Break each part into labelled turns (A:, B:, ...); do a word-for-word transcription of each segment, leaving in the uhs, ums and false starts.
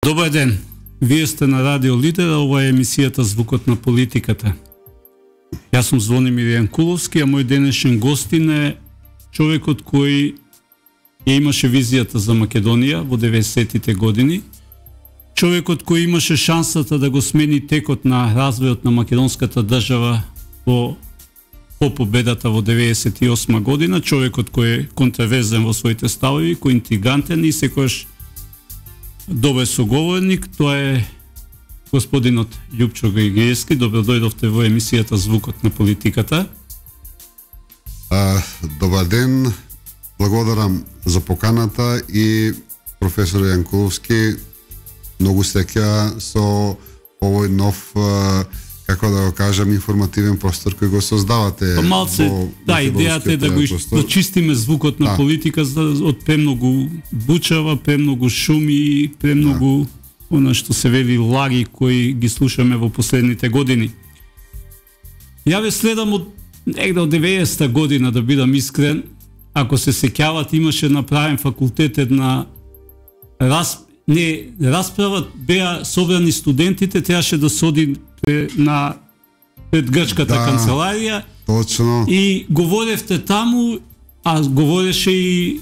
A: Добар ден. Вие сте на Радио Лидер, а ова е емисијата Звукот на политиката. Јас сум Звонимир Јанкуловски, а мој денешен гостин е човекот кој ја имаше визијата за Македонија во деветдесетите години, човекот кој имаше шансата да го смени текот на развојот на македонската држава во по победата во деветдесет и осма година, човекот кој е контраверзен во своите ставови, кој е интригантен и секојаш добар соговорник, тоа е господинот Љупчо Григиевски. Добро дојдовте во емисијата Звукот на политиката.
B: А, добар ден, благодарам за поканата и професор Јанкуловски, многу среќа со овој нов, како да го кажам, информативен простор кој го создавате.
A: Па малце, да, идејата е да го дочистиме звукот на да. политика од премногу бучава, премногу шуми и премногу да. она што се вели лаги кои ги слушаме во последните години. Ја ве следам од негде од деветдесета година, да бидам искрен. Ако се сеќавате, имаше направен факултет една раз, не, расправа, беа собрани студентите, требаше да се оди на пред грчката да, канцеларија.
B: Точно.
A: И говоревте таму, а говореше и,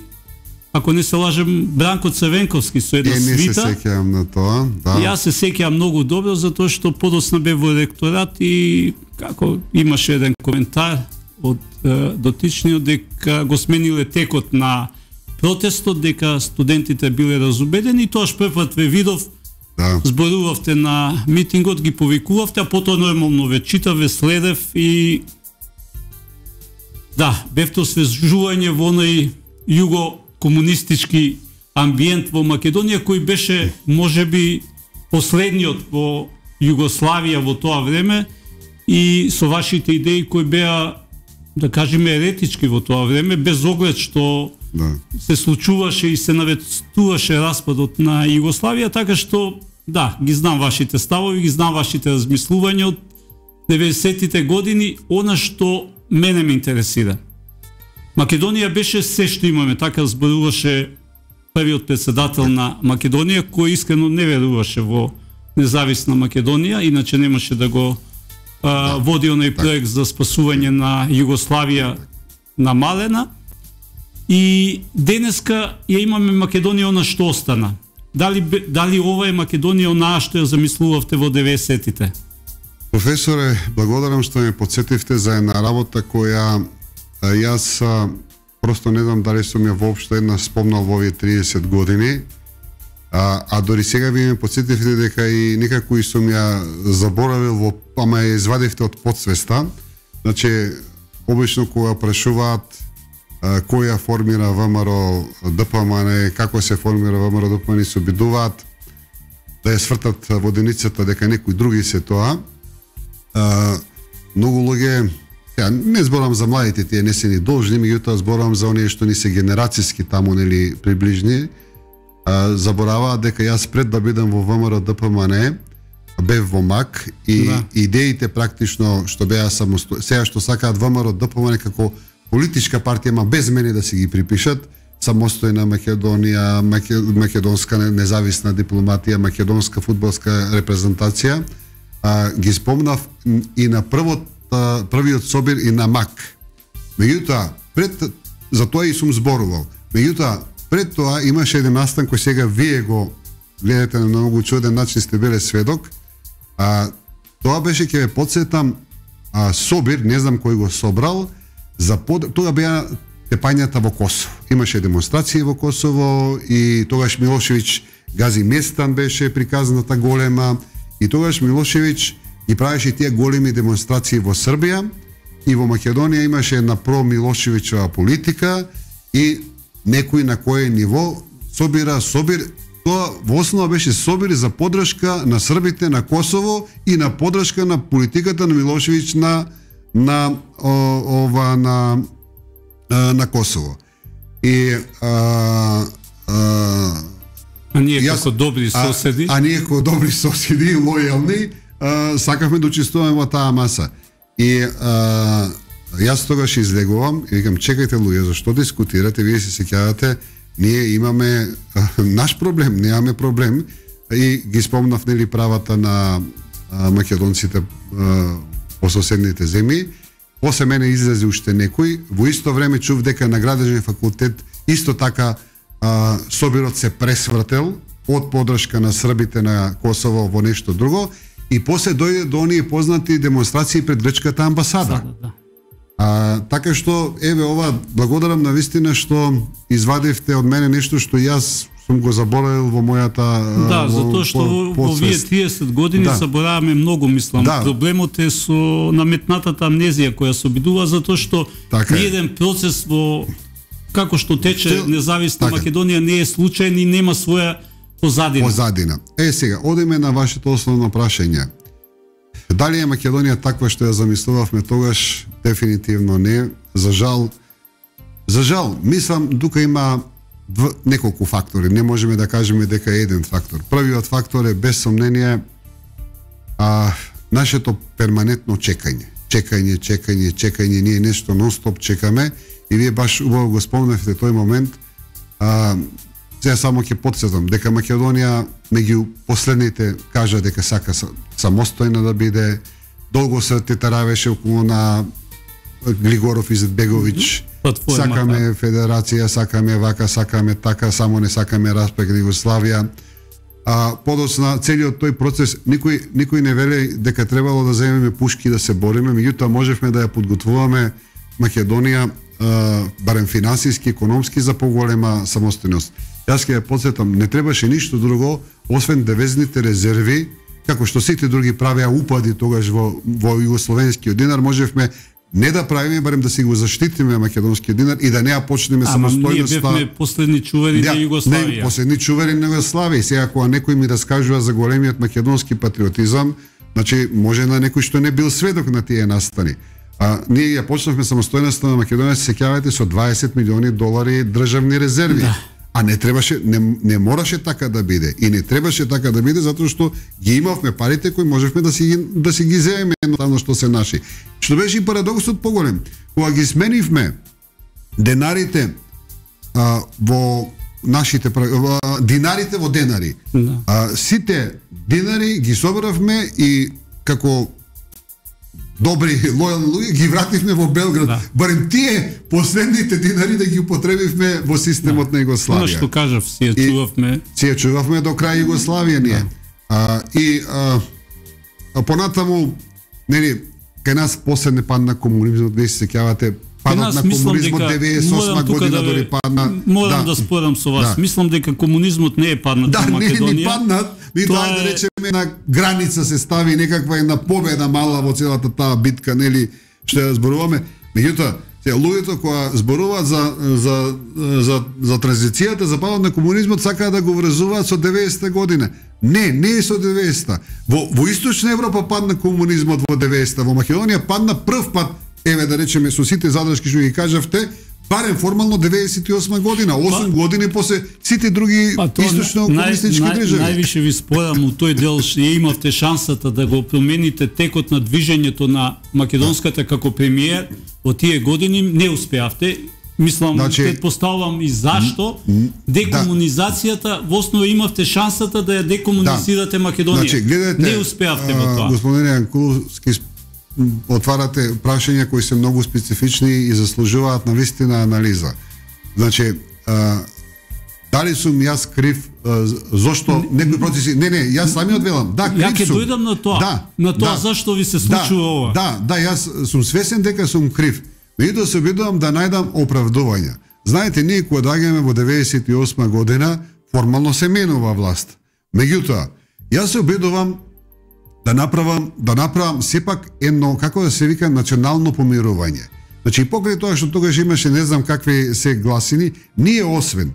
A: ако не се лажем, Бранко Црвенковски со една
B: е,
A: свита.
B: Не се сеќавам на тоа, да.
A: Јас се сеќавам многу добро, затоа што подоцна бе во ректорат и како имаше еден коментар од е, дотичниот дека го смениле текот на протестот, дека студентите биле разубедени и тоаш првпат ве видов. Да. Зборувавте на митингот, ги повикувавте, а потоа нормално ве читав, ве следев и да, бевте освежување во оној југо-комунистички амбиент во Македонија, кој беше можеби последниот во Југославија во тоа време и со вашите идеи кои беа, да кажеме, еретички во тоа време, без оглед што да. се случуваше и се навестуваше распадот на Југославија, така што, да, ги знам вашите ставови, ги знам вашите размислувања од деветдесетите години, она што мене ме интересира. Македонија беше се што имаме, така зборуваше првиот председател на Македонија, кој искрено не веруваше во независна Македонија, иначе немаше да го а, води оној проект за спасување на Југославија намалена. И денеска ја имаме Македонија она што остана. Дали, дали ова е Македонија онаа што ја замислувавте во деветдесетите?
B: Професоре, благодарам што ме подсетивте за една работа која јас просто не знам дали сум ја воопшто една спомнал во овие триесет години, а, а дори сега ви ме подсетивте дека и некако и сум ја заборавил, во, ама ја извадивте од подсвеста. Значи, обично кога прашуваат која формира ВМРО ДПМН, како се формира ВМРО ДПМН, се обидуваат да ја свртат воденицата дека некои други се тоа. А, многу луѓе, ја не зборам за младите, тие не се ни должни, меѓутоа зборам за оние што ни се генерацијски таму, нели, приближни, а, забораваат дека јас пред да бидам во ВМРО ДПМН бев во МАК и да. идеите практично што беа самостојни, сега што сакаат ВМРО ДПМН како политичка партија, ма без мене да си ги припишат, самостојна Македонија, македонска независна дипломатија, македонска фудбалска репрезентација, а, ги спомнав и на првот, а, првиот собир и на МАК. Меѓутоа, пред, за тоа и сум зборувал, меѓутоа, пред тоа имаше еден настан кој сега вие го гледате на многу чуден начин, сте биле сведок, а, тоа беше, ќе ве подсетам, а, собир, не знам кој го собрал, за под... тога беа тепањата во Косово. Имаше демонстрации во Косово и тогаш Милошевиќ гази Местан беше приказната голема и тогаш Милошевиќ ги правеше тие големи демонстрации во Србија и во Македонија имаше една про-Милошевиќова политика и некој на кое ниво собира собир. Тоа во основа беше собир за поддршка на србите на Косово и на поддршка на политиката на Милошевиќ на на о, ова на на Косово. И а, а,
A: а ние јас, како добри соседи,
B: а, а ние како добри соседи лојални, а, сакавме да учествуваме во таа маса. И а, јас тогаш излегувам и викам, чекајте луѓе, зашто дискутирате, вие се сеќавате, ние имаме а, наш проблем, немаме проблем, и ги спомнав нели правата на а, македонците а, по соседните земји. После мене излезе уште некој. Во исто време чув дека на Градежен факултет исто така а, собирот се пресвртел од подршка на србите на Косово во нешто друго и после дојде до оние познати демонстрации пред грчката амбасада.
A: Сада, да.
B: А, така што, еве ова, благодарам на вистина што извадивте од мене нешто што јас сум го заборавил во мојата
A: Да,
B: во,
A: затоа што во, во овие триесет години
B: да.
A: забораваме многу, мислам.
B: Да.
A: Проблемот е со наметнатата амнезија која се обидува, затоа што
B: така
A: еден процес во како што тече
B: Што...
A: независна
B: така.
A: Македонија не е случаен и нема своја позадина.
B: Позадина. Е, сега, одиме на вашето основно прашање. Дали е Македонија таква што ја замислувавме тогаш? Дефинитивно не. За жал, за жал, мислам, тука има дв... неколку фактори. Не можеме да кажеме дека е еден фактор. Првиот фактор е без сомнение а, нашето перманентно чекање. Чекање, чекање, чекање. Ние нешто нон-стоп чекаме и вие баш убаво го спомнавте тој момент. А, сега само ќе потсетам дека Македонија меѓу последните кажа дека сака самостојна да биде. Долго се тетаравеше околу на Глигоров и Зетбеговиќ.
A: Платформа,
B: Сакаме
A: да.
B: федерација, сакаме вака, сакаме така, само не сакаме распад на Југославија. А подоцна целиот тој процес никој никој не вели дека требало да земеме пушки да се бориме, меѓутоа можевме да ја подготвуваме Македонија а, барем финансиски, економски за поголема самостојност. Јас ќе ја потсетам, не требаше ништо друго освен девизните резерви, како што сите други правеа упади тогаш во во југословенскиот динар, можевме не да правиме, барем да си го заштитиме македонскиот динар и да не ја почнеме самостојноста.
A: Ама ние бевме последни чувери
B: да,
A: на Југославија.
B: Не, последни чувери на Југославија. И сега кога некој ми раскажува за големиот македонски патриотизам, значи може на некој што не бил сведок на тие настани. А ние ја почнавме самостојноста на Македонија, се сеќавате, со дваесет милиони долари државни резерви.
A: Да.
B: А не требаше, не, не мораше така да биде. И не требаше така да биде затоа што ги имавме парите кои можевме да си да си ги земеме едноставно што се наши. Што беше и парадоксот поголем. Кога ги сменивме денарите а, во нашите во, динарите во денари.
A: Да.
B: А, сите динари ги собравме и како добри лојални луѓе ги вративме во Белград. Да. Барем тие последните динари да ги употребивме во системот да. на Југославија.
A: Оно што кажав, си ја чувавме.
B: Си ја чувавме до крај Југославија ние. Да. А, и а, а понатаму, нели, кај нас после не падна комунизмот, вие се сеќавате, падот на комунизмот деветдесет и осма година да дори падна.
A: Морам
B: да,
A: да спорам со вас.
B: Да.
A: Мислам дека комунизмот не е паднат
B: да,
A: во Македонија.
B: Да, не е паднат. Ми тоа е да речеме на граница се стави некаква една победа мала во целата таа битка, нели, што ја зборуваме. Меѓутоа, сега луѓето кои зборуваат за за за за транзицијата, за падот на комунизмот, сакаат да го врзуваат со деветдесета година. Не, не е со деветдесета. Во во Источна Европа падна комунизмот во деветдесета, во Македонија падна прв пат, еве да речеме со сите задршки што ги кажавте, барем формално деветдесет и осма година, осум па, години после сите други па, источно комунистички нај, држави.
A: Највише ви спорам у тој дел што имавте шансата да го промените текот на движењето на македонската како премиер во тие години, не успеавте. Мислам, значи, предпоставувам и зашто декомунизацијата, во основа имавте шансата да ја декомунизирате да. Македонија. Значи, гледате, не успеавте во тоа.
B: Господин Јанкуловски, отварате прашања кои се многу специфични и заслужуваат на вистина анализа. Значи, а, дали сум јас крив, а, зошто некои процеси... Не, не, јас самиот велам, да, крив
A: ја
B: сум.
A: Ја ќе дојдам на тоа,
B: да,
A: на тоа
B: да,
A: зашто ви се случува
B: да,
A: ова.
B: Да, да, јас сум свесен дека сум крив. Меѓутоа се обидувам да најдам оправдувања. Знаете, ние кога доаѓаме во деветдесет и осма година, формално се менува власт. Меѓутоа, јас се обидувам да направам, да направам сепак едно, како да се вика, национално помирување. Значи, покрај тоа што тогаш имаше не знам какви се гласини, ние освен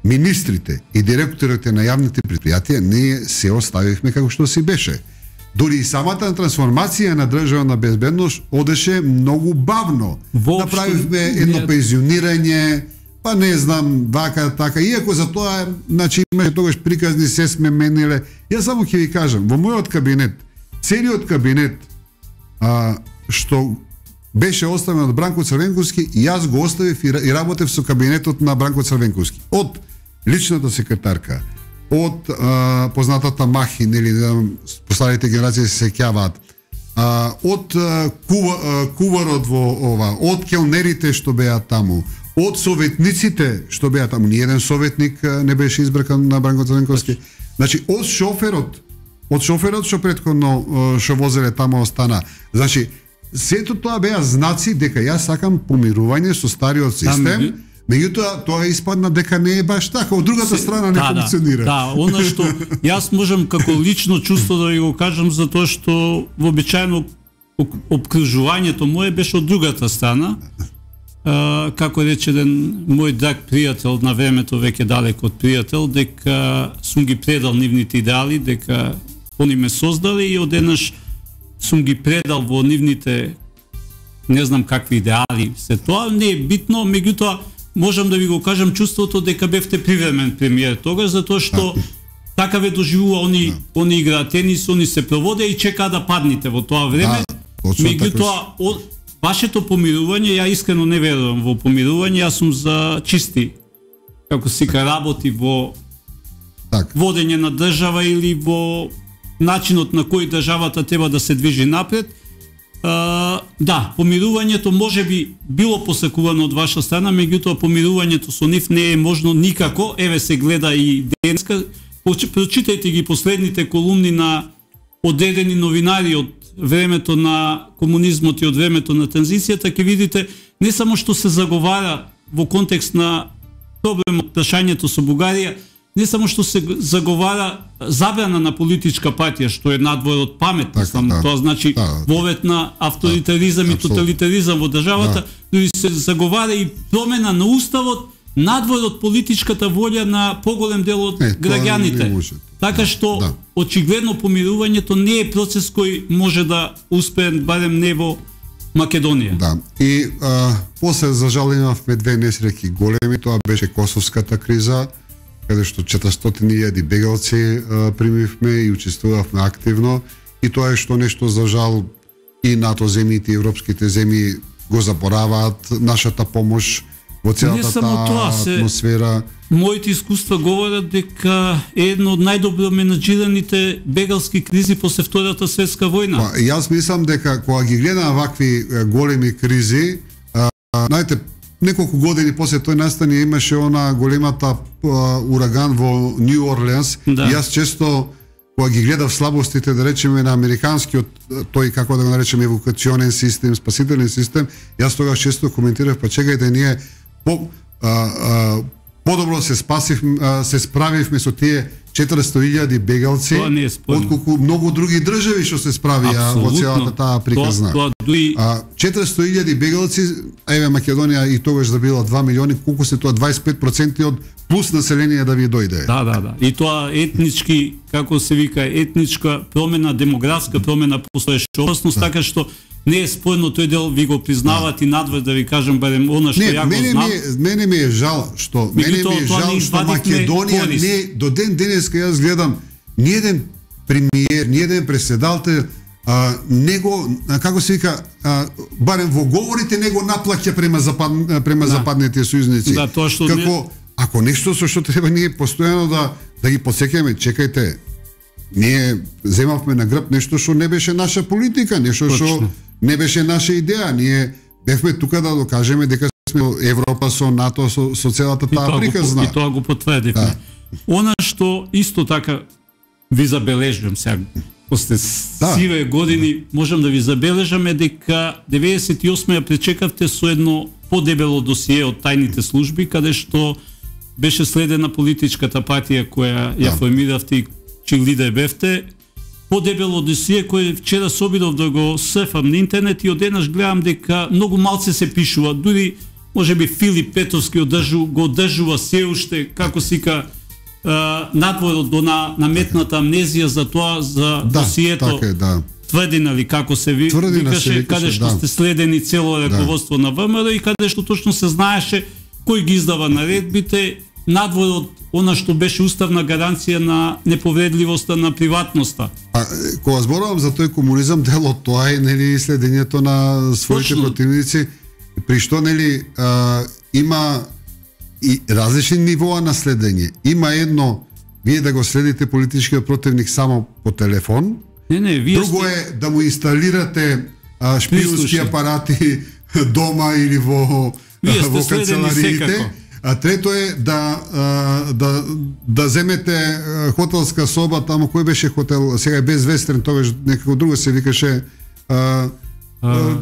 B: министрите и директорите на јавните предпријатија, ние се оставивме како што си беше. Дори и самата трансформација на државна безбедност одеше многу бавно. Воопшто, направивме едно не... пензионирање, па не знам, вака, така, иако за тоа, значи, имаше тогаш приказни, се сме мениле. Јас само ќе ви кажам, во мојот кабинет, целиот кабинет, а, што беше оставен од Бранко Црвенковски, јас го оставив и работев со кабинетот на Бранко Црвенковски. Од личната секретарка, од а, познатата Махи, нели, постарите генерации се сеќаваат, а, од а, кува, а, куварот во ова, од келнерите што беа таму, од советниците што беа таму, ни еден советник а, не беше избркан на Бранко Црнковски. Значи, од шоферот, од шоферот што претходно а, што возеле таму остана. Значи, сето тоа беа знаци дека јас сакам помирување со стариот систем. Меѓутоа, тоа испадна дека не е баш така, од другата Се, страна не да, функционира.
A: Да, да, она што јас можам како лично чувство да ви го кажам, затоа што вообичаено обкружувањето мое беше од другата страна. А, како рече еден мој драг пријател на времето, веќе далеко од пријател, дека сум ги предал нивните идеали, дека они ме создали и одеднаш сум ги предал во нивните, не знам какви идеали се тоа, не е битно, меѓутоа можам да ви го кажам чувството дека бевте привремен премиер тогаш, затоа што да. Така ве доживува, они, да. Они играат тенис, они се проводе и чекаат да падните во тоа време. Да, меѓутоа, така... вашето помирување, ја искрено не верувам во помирување, јас сум за чисти, како се ка работи во так. Водење на држава или во начинот на кој државата треба да се движи напред. Uh, да, помирувањето може би било посакувано од ваша страна, меѓутоа помирувањето со нив не е можно никако. Еве се гледа и денеска. Прочитајте ги последните колумни на одредени новинари од времето на комунизмот и од времето на транзицијата, ќе видите не само што се заговара во контекст на проблемот прашањето со Бугарија, не само што се заговара забрана на политичка партија, што е надвор од памет, така, само да, тоа значи да, вовет на авторитаризам да, и тоталитаризам во државата, дури да. Се заговара и промена на уставот надвор од политичката волја на поголем дел од е, граѓаните. Така што да. Очигледно помирувањето не е процес кој може да успее барем не во Македонија. Да.
B: И а, после за жал имавме две несреќи големи, тоа беше Косовската криза, каде што четиристотини илјади бегалци а, примивме и учествувавме активно, и тоа е што нешто за жал и НАТО земјите и европските земји го забораваат, нашата помош во целата таа атмосфера.
A: Моите искуства говорат дека е едно од најдобро менаџираните бегалски кризи после Втората светска војна.
B: Па, јас мислам дека кога ги гледам вакви големи кризи, а, знаете, неколку години после тој настани имаше она големата а, ураган во Нью Орлеанс. Да. И јас често кога ги гледав слабостите, да речеме, на американскиот тој, како да го наречеме, евакуационен систем, спасителен систем, јас тогаш често коментирав, па чекајте, ние по а, а, подобро се спасивме, се справивме со тие четиристотини илјади бегалци, отколку многу други држави што се справија во целата таа приказна.
A: Тоа, тоа, дуи...
B: четиристотини илјади бегалци, еве Македонија и тогаш да била два милиони, колку се тоа дваесет и пет проценти од плюс население да ви дојде.
A: Да, да, да. И тоа етнички, како се вика, етничка промена, демографска промена постоеше опасност, да. Така што не е спорно, тој дел ви го признават да. И надвор да ви кажам барем она што
B: не,
A: ја го знам.
B: Не, мене ми е жал што мене ми е жал што Македонија не до ден денеска јас гледам ни еден премиер, ни еден преседател а, него, како се вика, а, барем во говорите него наплаќа према запад, према да. Западните сојузници.
A: Да, тоа што
B: како не... ако нешто со што треба ние постојано да да ги посеќаме, чекајте. Ние земавме на грб нешто што не беше наша политика, нешто што не беше наша идеја. Ние бевме тука да докажеме дека сме Европа со НАТО, со, со целата таа приказна.
A: И тоа го потврдивме. Да. Она што исто така ви забележувам сега, после да. Сиве години, можам да ви забележаме дека деветдесет и осма ја пречекавте со едно подебело досие од тајните служби, каде што беше следена политичката партија која ја да. Формиравте и чиј лидер бевте, подебело досие кој вчера се обидов да го сефам на интернет и одеднаш гледам дека многу малце се пишува, дури можеби Филип Петровски одржу, го одржува се уште, како сика надворот до на наметната амнезија за тоа, за да, досието.
B: Така е, да.
A: Тврдина ли како се ви, викаше, се каде што да. Сте следени цело раководство да. На ВМРО и каде што точно се знаеше кој ги издава наредбите, надвор од она што беше уставна гаранција на неповредливоста на приватноста.
B: А кога зборувам за тој комунизам, дел од тоа е нели следењето на своите точно. Противници, при што нели а, има и различни нивоа на следење. Има едно вие да го следите политичкиот противник само по телефон.
A: Не, не, вие
B: Друго
A: сте...
B: е да му инсталирате а, шпионски
A: Прислуши.
B: апарати дома или во
A: Вие сте
B: во
A: следени
B: канцелариите.
A: секако.
B: А трето е да а, да да земете а, хотелска соба таму, кој беше хотел, сега е Безвестрен, тогаш некако друго се викаше а,
A: А,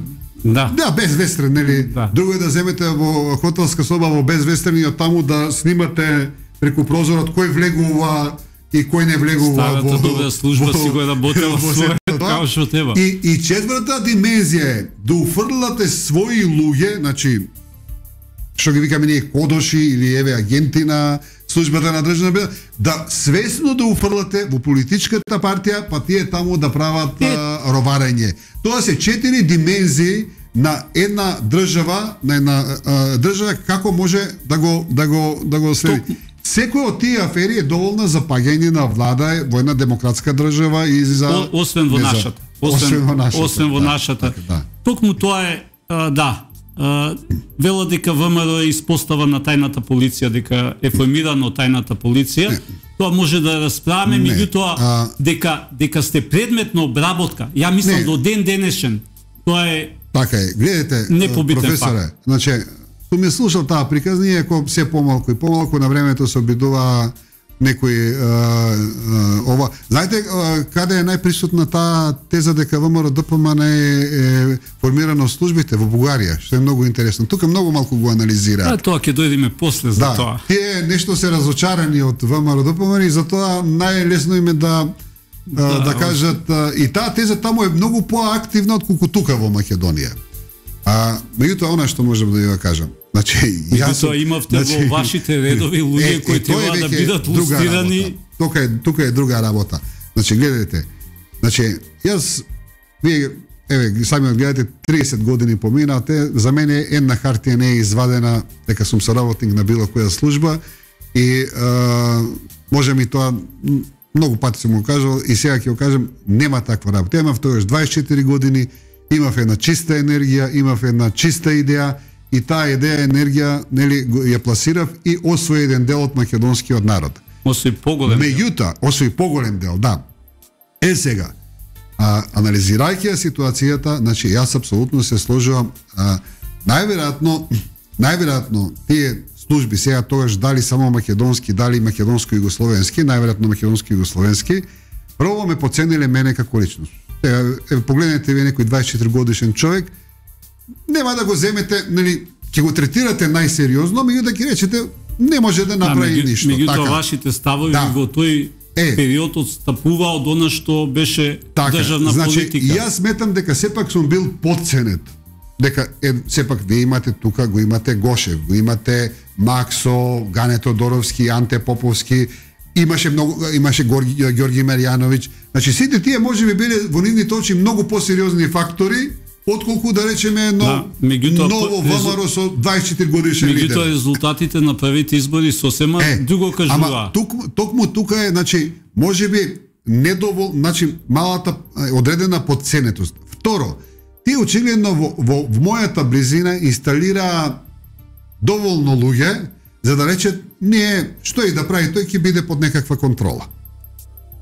A: да.
B: да, Безвестрен, нели?
A: Да.
B: Друго е да земете во хотелска соба во Безвестрен и од таму да снимате преку прозорот кој влегува и кој не влегува
A: Старата
B: во
A: добра служба си го е работела
B: во
A: својот
B: сето тоа.
A: како што треба.
B: И и четврта димензија е да уфрлате своји луѓе, значи што ги викаме ние кодоши или еве агенти на службата на државна безбедност, да свесно да уфрлате во политичката партија, па тие таму да прават
A: Е.
B: а, роварење. Тоа се четири димензии на една држава, на една а, држава како може да го да го да го следи.
A: Ток-
B: Секој од тие афери е доволна за паѓање на влада во една демократска држава и за
A: О, освен во
B: не за-
A: нашата.
B: Освен во нашата.
A: Освен во
B: да,
A: нашата.
B: така, да.
A: Токму тоа е, а, да, а, вела дека ВМРО е испостава на тајната полиција, дека е формирано тајната полиција.
B: Не.
A: Тоа може да расправаме,
B: Не.
A: меѓутоа
B: А-
A: дека дека сте предмет на обработка. Ја мислам
B: Не.
A: до ден денешен. Тоа е
B: Така е. Гледате,
A: Непобитен
B: професоре,
A: факт.
B: значи, што ми слушал таа приказ, ние ако се помалку и помалку на времето се обидува некои а, а, ова. Знаете а, каде е најприсутна таа теза дека ВМРО ДПМН е, е формирано од службите во Бугарија, што е многу интересно. Тука многу малку го анализира.
A: а, тоа ќе дојдеме после за
B: Да,
A: тоа.
B: тие нешто се разочарани од ВМРО ДПМН и затоа најлесно им е да да,
A: Да,
B: да кажат а, и таа теза таму е многу поактивна отколку тука во Македонија. А меѓутоа она што можам да ја кажам. Значи, јас
A: Меѓутоа имавте во вашите редови луѓе кои
B: тоа е
A: треба да
B: веќе
A: бидат
B: друга
A: лустирани.
B: работа. Тука е тука е друга работа. Значи гледате. Значи јас вие еве сами гледате триесет години поминате, за мене една хартија не е извадена дека сум соработник на било која служба и а, може ми тоа м, многу пати сум го кажал и сега ќе го кажам, нема таква работа. Имав тогаш дваесет и четири години, имав една чиста енергија, имав една чиста идеја и таа идеја енергија нели го- ја пласирав и освои еден дел од македонскиот народ.
A: Освен поголем.
B: Меѓутоа, освои поголем дел, да. Е сега, а, анализирајќи ја ситуацијата, значи јас апсолутно се сложувам, а, најверојатно, најверојатно тие служби сега тогаш дали само македонски, дали македонско-југословенски, најверојатно македонско-југословенски, прво ме поцениле мене како личност. Сега, е, погледнете вие некој дваесет и четири годишен човек, нема да го земете, нели, ќе го третирате најсериозно, меѓутоа ќе речете не може да направи
A: меѓу-
B: ништо.
A: Меѓутоа
B: Така.
A: вашите ставови
B: Да.
A: во тој
B: Е.
A: период одстапува од она што беше
B: Така,
A: државна
B: значи,
A: политика.
B: Јас сметам дека сепак сум бил подценет. Дека е, сепак вие имате тука, го имате Гошев, го имате Максо, Гане Тодоровски, Анте Поповски, имаше многу имаше Горги, Ѓорги Марјановиќ. Значи сите тие можеби биле во нивните очи многу посериозни фактори отколку да речеме едно
A: Да, меѓутоа,
B: ново
A: резу-
B: ВМРО со дваесет и четири годишен
A: Меѓутоа
B: лидер.
A: резултатите на првите избори сосема
B: Е,
A: друго кажува.
B: Ама тук, токму тука е, значи, можеби недовол, значи малата е, одредена подценетост. Второ, ти очигледно во, во, во мојата близина инсталира доволно луѓе за да речат не, што и да прави, тој ќе биде под некаква контрола.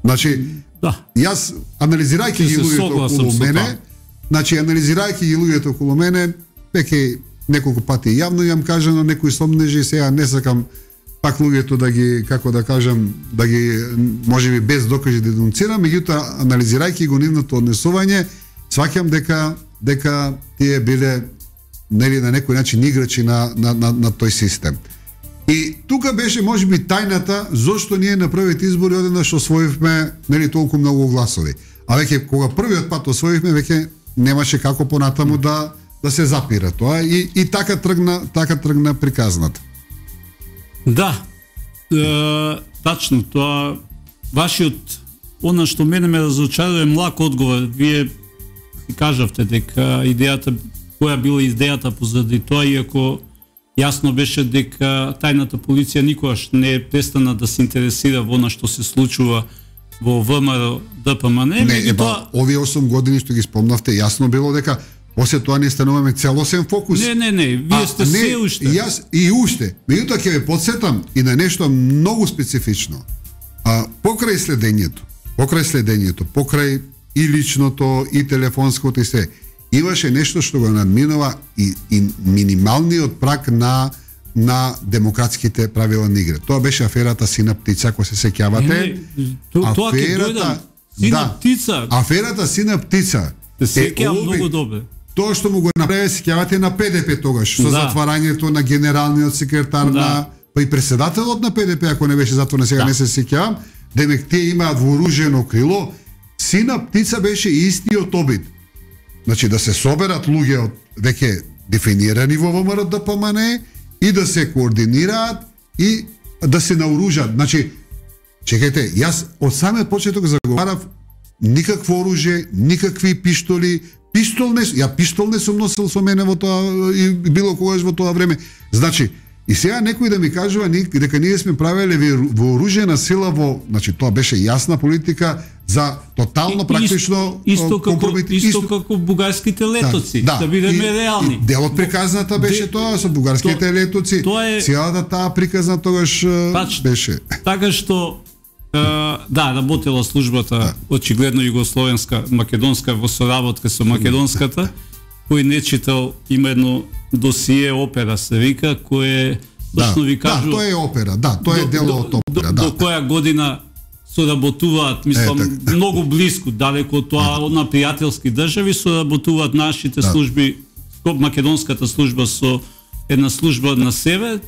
B: Значи,
A: Да.
B: јас анализирајќи
A: Ќе
B: ги
A: се
B: луѓето
A: согласам
B: околу
A: со
B: мене,
A: тоа.
B: значи анализирајќи ги луѓето околу мене, веќе неколку пати јавно јам кажано некои сомнежи, сега не сакам пак луѓето да ги, како да кажам, да ги можеби без докази да денунцирам, меѓутоа анализирајќи го нивното однесување, сваќам дека дека тие биле нели на некој начин играчи на на на, на тој систем. И тука беше можеби тајната зошто ние на првите избори одеднаш освоивме нели толку многу гласови. А веќе кога првиот пат освоивме, веќе немаше како понатаму да да се запира тоа и и така тргна така тргна приказната.
A: Да, е, тачно, тоа вашиот, она што мене ме разочарува е млак одговор. Вие си кажавте дека идејата, која била идејата позади тоа, иако јасно беше дека тајната полиција никогаш не е престана да се интересира во она што се случува во ВМРО ДПМН,
B: Не,
A: меѓутоа
B: еба, овие осум години што ги спомнавте, јасно било дека после тоа не стануваме целосен фокус.
A: не, не, не, вие сте се уште.
B: Јас и уште. Меѓутоа ќе ве потсетам и на нешто многу специфично. А, покрај следењето, покрај следењето, покрај и личното, и телефонското и се, имаше нешто што го надминува и, и минималниот праг на на демократските правила на игра. Тоа беше аферата Сина птица, ако се сеќавате.
A: Тоа ќе дојдам. Сина
B: да,
A: птица.
B: Аферата Сина птица.
A: Се сеќавам многу добре.
B: Тоа што му го направи, сеќавате, на Пе Де Пе тогаш, со
A: да.
B: затварањето на генералниот секретар да. на па и председателот на Пе Де Пе, ако не беше затворен, сега да. не се сеќавам, демек тие имаат вооружено крило. Сина птица беше истиот обид. Значи да се соберат луѓе од веќе дефинирани во ВМРО Д П М Н и да се координираат и да се наоружат. Значи, чекајте, јас од самиот почеток заговарав никакво оружје, никакви пиштоли, пистол не, ја пистол не сум носил со мене во тоа и било когаш во тоа време. Значи, и сега некој да ми кажува дека ние сме правеле вооружена сила во, значи тоа беше јасна политика за тотално и, практично
A: исто како исто како бугарските летоци, да, да бидеме и, реални.
B: И делот приказната беше Де, тоа со бугарските то, летоци. Тоа е целата таа приказна тогаш тач, беше.
A: Така што Uh, да, работела службата да. очигледно југословенска, македонска во соработка со македонската, кој не читал, има едно досие опера се вика, кое точно
B: да,
A: ви кажу.
B: Да, тоа е опера, да, тоа е дело од опера,
A: до,
B: да.
A: До која година соработуваат, мислам, е, так, многу близко, далеко од тоа, од на пријателски држави соработуваат нашите да. служби, македонската служба со една служба на север,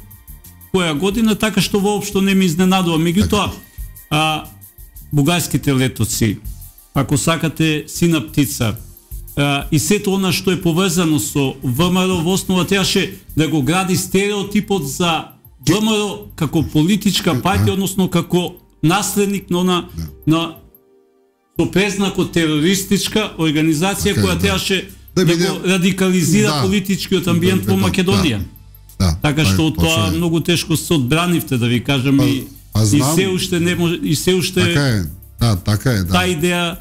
A: која година, така што воопшто не ми изненадува. Меѓутоа, а, бугарските летоци, ако сакате Сина птица, а, и сето она што е поврзано со ВМРО, во основа требаше да го гради стереотипот за ВМРО како политичка партија, односно како наследник на она, на со презнакот терористичка организација okay, која требаше да, да, да го радикализира да, политичкиот амбиент да, во Македонија. Да, да, така што тоа почне. Многу тешко се одбранивте, да ви кажам, и и се уште не може, и се уште
B: така е. Да, така е, да.
A: Таа идеја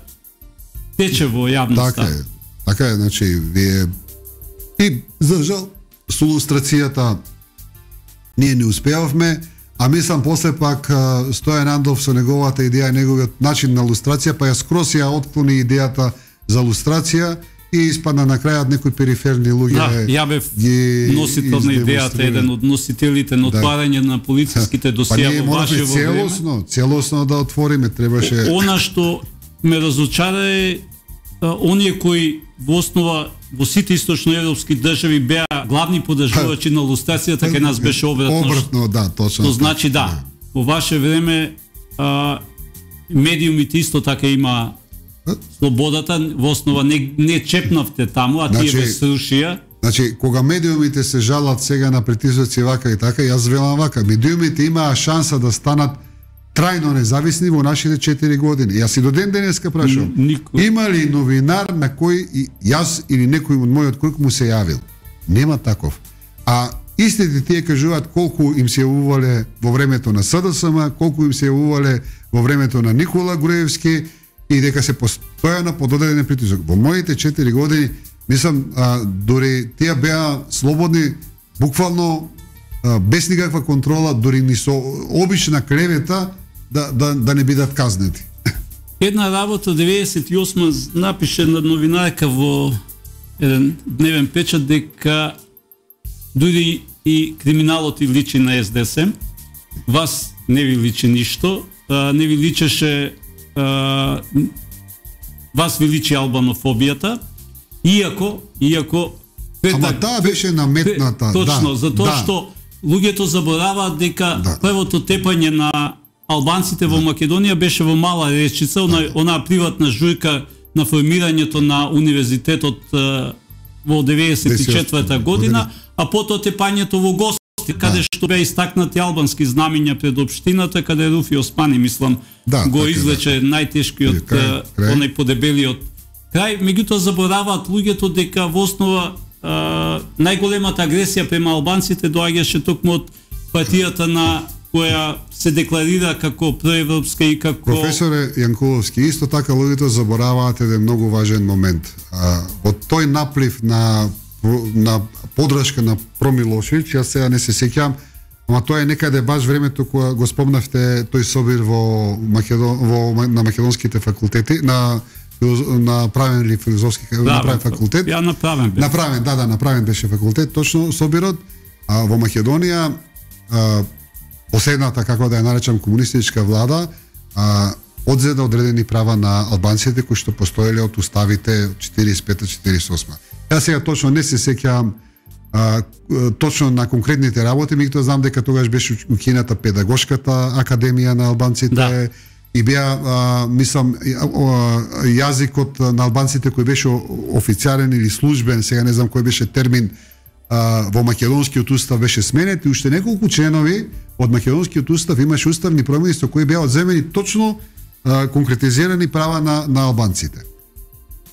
A: тече во јавноста.
B: Така е. Така е, значи вие и за жал со илустрацијата ние не успеавме, а мислам после пак Стојан Андов со неговата идеја, неговиот начин на илустрација, па ја скрос ја отклони идејата за илустрација и испадна на крајот некои периферни луѓе.
A: Да, ја бев носител на идејата, еден од носителите на отварање да. на полициските досија
B: во ваше во време. Целосно, целосно да отвориме, требаше.
A: Она што ме разочара е оние кои во основа во сите источноевропски држави беа главни поддржувачи на илустрацијата, кај нас беше обратно.
B: Обратно, да, точно.
A: То значи да, во ваше време а, медиумите исто така има слободата, во основа не, не чепнавте таму, а значи, тие ве срушија.
B: Значи, кога медиумите се жалат сега на притисоци вака и така, јас велам вака, медиумите имаа шанса да станат трајно независни во нашите четири години. Јас и до ден денеска прашувам, има ли новинар на кој и јас или некој од мојот круг му се јавил? Нема таков. А истите тие кажуваат колку им се јавувале во времето на С Д С М, колку им се јавувале во времето на Никола Груевски, и дека се постојано под одреден притисок. Во моите четири години, мислам, а, дори тие беа слободни, буквално а, без никаква контрола, дури ни со обична клевета да, да, да не бидат казнети.
A: Една работа деветдесет и осма напише на новинарка во еден дневен печат дека дури и криминалот и личи на С Д С М. Вас не ви личи ништо, а, не ви личеше Uh, вас ви личи албанофобијата, иако, иако
B: Ама таа беше наметната.
A: Точно,
B: да,
A: затоа
B: да.
A: што луѓето забораваат дека да. првото тепање на албанците да. во Македонија беше во Мала Речица, она, да. онаа приватна жујка на формирањето на универзитетот uh, во деветдесет и четврта година, а потоа тепањето во Гости, каде да. што беа истакнати албански знамиња пред општината, каде Руфи Османи, мислам, да, го извлече да. најтешкиот, крај, крај. онај подебелиот крај. Меѓутоа забораваат луѓето дека во основа а, најголемата агресија према албанците доаѓаше токму од партијата на која се декларира како проевропска и како...
B: Професоре Јанкуловски, исто така луѓето забораваат еден многу важен момент. А, од тој наплив на на подршка на Промилошевиќ, јас сега не се сеќавам, ама тоа е некаде баш времето кога го спомнавте тој собир во Македон во на македонските факултети, на направен ли филозофски да, направен факултет?
A: Ја направен беше.
B: Направен, да, да, направен беше факултет, точно собирот, а во Македонија а, последната, како да ја наречам, комунистичка влада а, одзеда одредени права на албанците кои што постоеле од уставите четириесет и пета четириесет и осма. Јас сега точно не се сеќавам а, точно на конкретните работи, меѓутоа знам дека тогаш беше укината педагошката академија на албанците, да. И беа, а, мислам, јазикот на албанците кој беше официјален или службен, сега не знам кој беше термин, а, во македонскиот устав беше сменет и уште неколку членови од македонскиот устав имаше уставни промени со кои беа одземени точно а, конкретизирани права на, на албанците.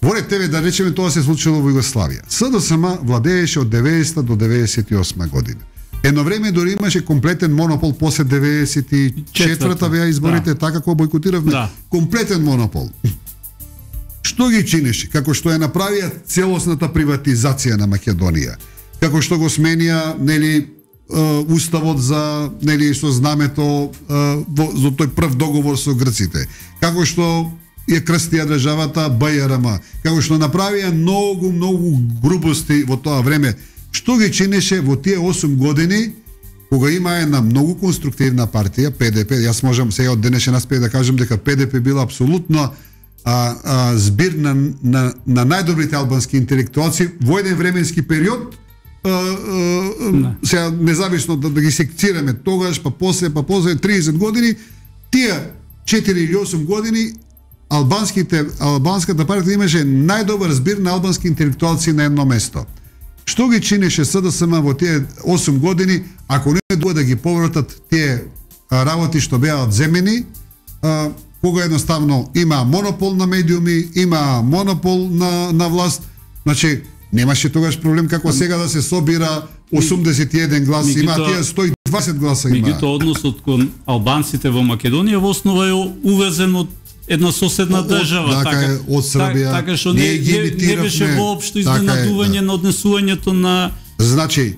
B: Во ред тебе, да речеме, тоа се случило во Југославија. СДСМ владееше од деветдесета до деветдесет и осма година. Едно време дори имаше комплетен монопол после деветдесет и четврта беа изборите, да. Така како бойкотиравме, да. Комплетен монопол. Што ги чинеше? Како што ја направија целосната приватизација на Македонија. Како што го сменија, нели, уставот за, нели, со знамето во за тој прв договор со грците. Како што ја крстија државата БЈРМ. Како што направија многу, многу грубости во тоа време. Што ги чинеше во тие осум години, кога има една многу конструктивна партија, ПДП, јас можам сега од денешен аспект да кажам дека ПДП била апсолутно а, а, збир на, на, на најдобрите албански интелектуалци во еден временски период, а, а, не. Сега независно да, да ги секцираме тогаш, па после, па после триесет години, тие четири или осум години, албанските, албанската партија имаше најдобар збир на албански интелектуалци на едно место. Што ги чинеше СДСМ во тие осум години, ако не дуа да ги повратат тие работи што беа одземени, а, кога едноставно има монопол на медиуми, има монопол на, на власт, значи немаше тогаш проблем како сега да се собира осумдесет и еден глас, Мигито, има тие сто и дваесет гласа има.
A: Меѓутоа односот кон албанците во Македонија во основа е увезен од една соседна држава,
B: така е, од Србија.
A: Така што не, не, не беше воопшто изненадување да. На однесувањето на...
B: Значи,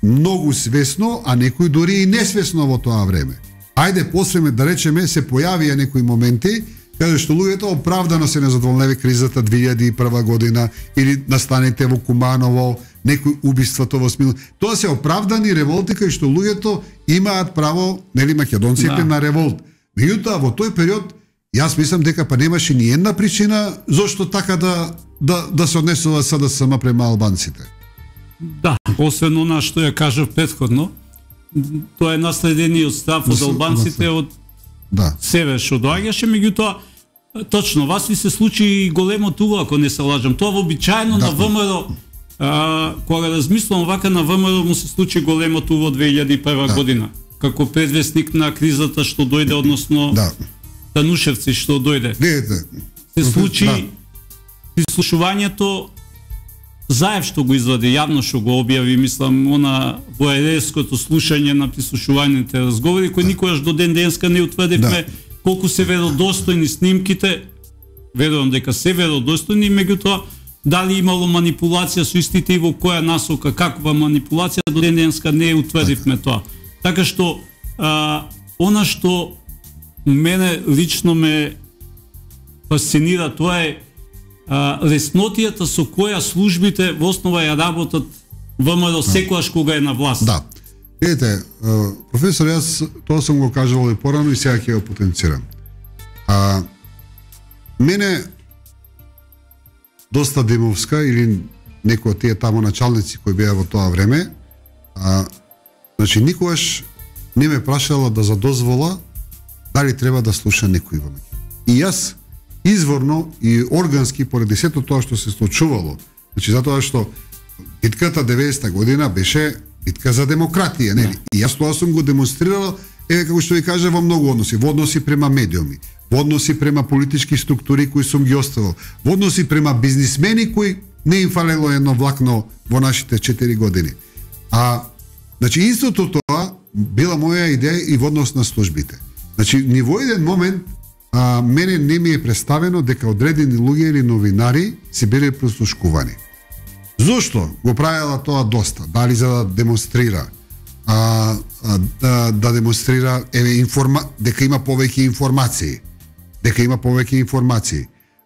B: многу свесно, а некои дури и несвесно во тоа време. Ајде, после да речеме, се појавија некои моменти, каде што луѓето оправдано се незадоволневи кризата две илјади и прва година, или настаните во Куманово, некои убиството во Смил. Тоа се оправдани револти, кај што луѓето имаат право, нели, македонците, да. На револт. Меѓутоа, во тој период, јас мислам дека па немаше ни една причина зошто така да да да се однесува СДСМ према албанците.
A: Да, освен она што ја кажав претходно, тоа е наследениот став од албанците од
B: да.
A: Север што доаѓаше, меѓутоа точно вас ви се случи и големо туго, ако не се лажам. Тоа вообичаено да. На ВМРО, а, кога размислувам вака, на ВМРО му се случи големо туго две илјади и прва да. Година, како предвестник на кризата што дојде, односно да. Танушевци што дојде.
B: Видите.
A: Се случи да. Прислушувањето Заев што го извади, јавно што го објави, мислам, она воереското слушање на прислушуваните разговори, кои да. Никогаш до ден денска не утврдивме да. Колку се веродостојни снимките, верувам дека се веродостојни, меѓутоа дали имало манипулација со истите и во која насока, каква манипулација, до ден денска не утврдивме да. Тоа. Така што, а, она што мене лично ме фасцинира, тоа е а, леснотијата со која службите во основа ја работат ВМРО секогаш кога е на власт.
B: Да. Видите, професор, јас тоа сум го кажал и порано и сега ќе го потенцирам. А, мене доста Демовска или некои од тие тамо началници кои беа во тоа време, а, значи никогаш не ме прашала да задозвола дали треба да слуша некој во мене. И јас изворно и органски поради сето тоа што се случувало, значи затоа што битката деветдесета година беше битка за демократија, нели? Да. И јас тоа сум го демонстрирал, еве како што ви кажа, во многу односи, во односи према медиуми, во односи према политички структури кои сум ги оставил, во односи према бизнисмени кои не им фалело едно влакно во нашите четири години. А значи истото тоа била моја идеја и во однос на службите. Значи ни во еден момент а, мене не ми е представено дека одредени луѓе или новинари се биле прослушкувани. Зошто го правела тоа доста? Дали за да демонстрира а, а, да, да демонстрира еве информа дека има повеќе информации, дека има повеќе информации.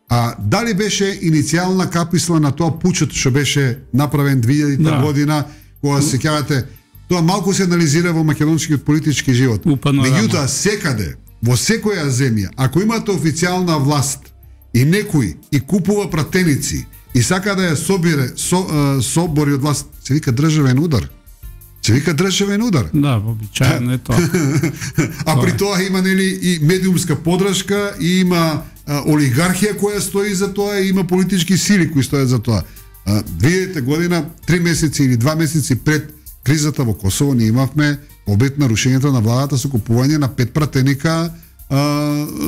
B: А дали беше иницијална каписла на тоа пучот што беше направен две илјадета да. година, кога се сеќавате, тоа малку се анализира во македонскиот политички живот. Меѓутоа секаде, во секоја земја, ако имате официјална власт и некој и купува пратеници и сака да ја собере со, собори од власт, се вика државен удар. Се вика државен удар.
A: Да, обичаено е тоа.
B: А при тоа има нели и медиумска подршка, и има а, олигархија која стои за тоа, и има политички сили кои стојат за тоа. две илјадета година, три месеци или два месеци пред кризата во Косово, ние имавме обид на рушењето на владата со купување на пет пратеника а,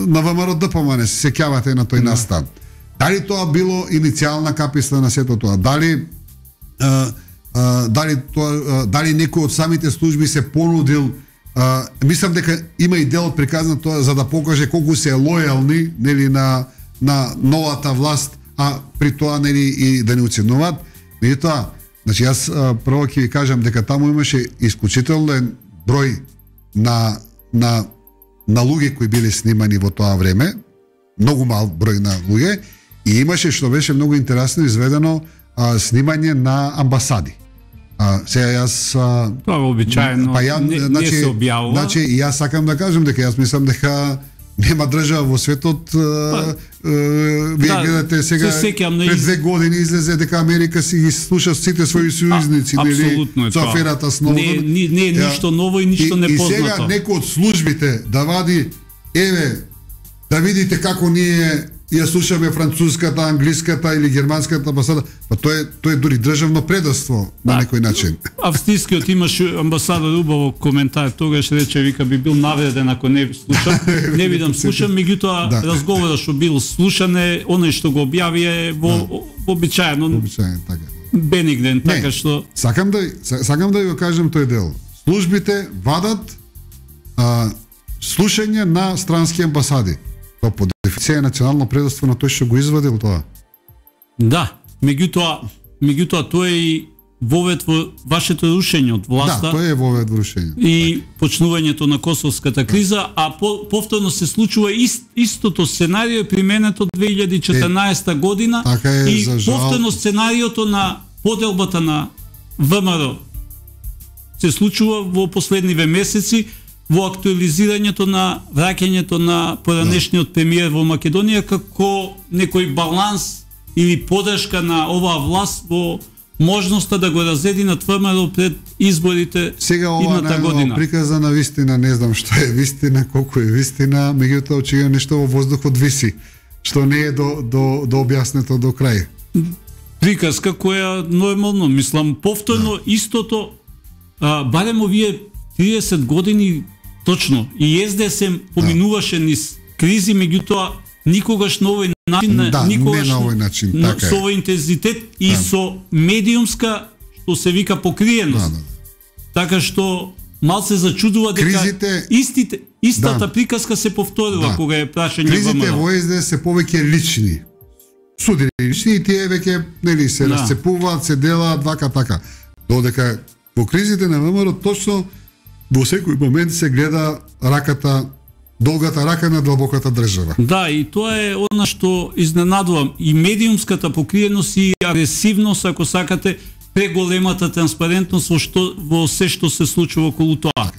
B: на ВМРО Д П М Н. Се сеќавате на тој настан. Дали тоа било иницијална каписла на сето тоа? Дали а, а, дали тоа дали некој од самите служби се понудил? А, мислам дека има и дел од приказна тоа за да покаже колку се лојални нели на на новата власт, а при тоа нели и да не оценуваат. Меѓутоа, значи јас а, прво ќе ви кажам дека таму имаше исклучителен број на на на луѓе кои биле снимани во тоа време, многу мал број на луѓе, и имаше, што беше многу интересно, изведено а, снимање на амбасади. А, сега јас а,
A: тоа е обичаено,
B: па ја,
A: не,
B: значи,
A: не се објавува.
B: Значи и јас сакам да кажам дека јас мислам дека нема држава во светот. Па, вие да, гледате сега пред две години излезе дека Америка си ги слуша сите своји сојузници, нели, со аферата Сноуден.
A: Не, не е ништо ново и ништо непознато.
B: И сега некој од службите да вади, еве, да видите како ние ја слушаме француската, англиската или германската амбасада, па тоа е тоа е дури државно предавство на некој начин.
A: Австрискиот имаше амбасадор убаво коментар, тогаш рече, вика, би бил навреден ако не слушам, не видам слушам, меѓутоа да. разговорот што бил слушане, оној што го објави е во да. обичаено.
B: Обичаено, така.
A: Бенигден, така што
B: сакам да сакам да ви кажам тој дел. Службите вадат а, слушање на странски амбасади. Тоа по дефиниција е национално предавство на тој што го извадил тоа.
A: Да, меѓутоа, меѓутоа тоа е и вовед во вашето рушење од власта.
B: Да, тоа е вовед во рушење.
A: И почнувањето на косовската криза, а по, повторно се случува ист, истото сценарио применето две илјади и четрнаесета година,
B: така е,
A: и
B: за жал...
A: повторно сценариото на поделбата на ВМРО се случува во последниве месеци, во актуализирањето на враќањето на поранешниот премиер во Македонија како некој баланс или подршка на оваа власт во можноста да го разединат ВМРО пред изборите
B: сега
A: идната година.
B: Сега ова приказа на вистина, не знам што е вистина, колку е вистина, меѓутоа очигледно нешто во воздухот виси, што не е до до до објаснето до крај.
A: Приказка која нормално, мислам, повторно да. истото, а, барем овие триесет години точно, и С Д С М поминуваше да. низ кризи, меѓутоа никогаш на овој начин,
B: да,
A: никогаш
B: не на овој начин,
A: на,
B: така
A: со овој интензитет и да. со медиумска, што се вика, покриеност. Да, да. Така што малце зачудува дека
B: кризите,
A: истите, истата
B: да.
A: приказка се повторува да. кога е прашање
B: во
A: ВМРО.
B: Кризите во С Д С се повеќе лични. Судени лични, и тие веќе нели се да. расцепуваат, се делаат вака така. Додека во кризите на ВМРО точно во секој момент се гледа раката, долгата рака на длабоката држава.
A: Да, и тоа е она што изненадувам. И медиумската покриеност и агресивност, ако сакате, преголемата транспарентност во, што, во се што се случува околу тоа.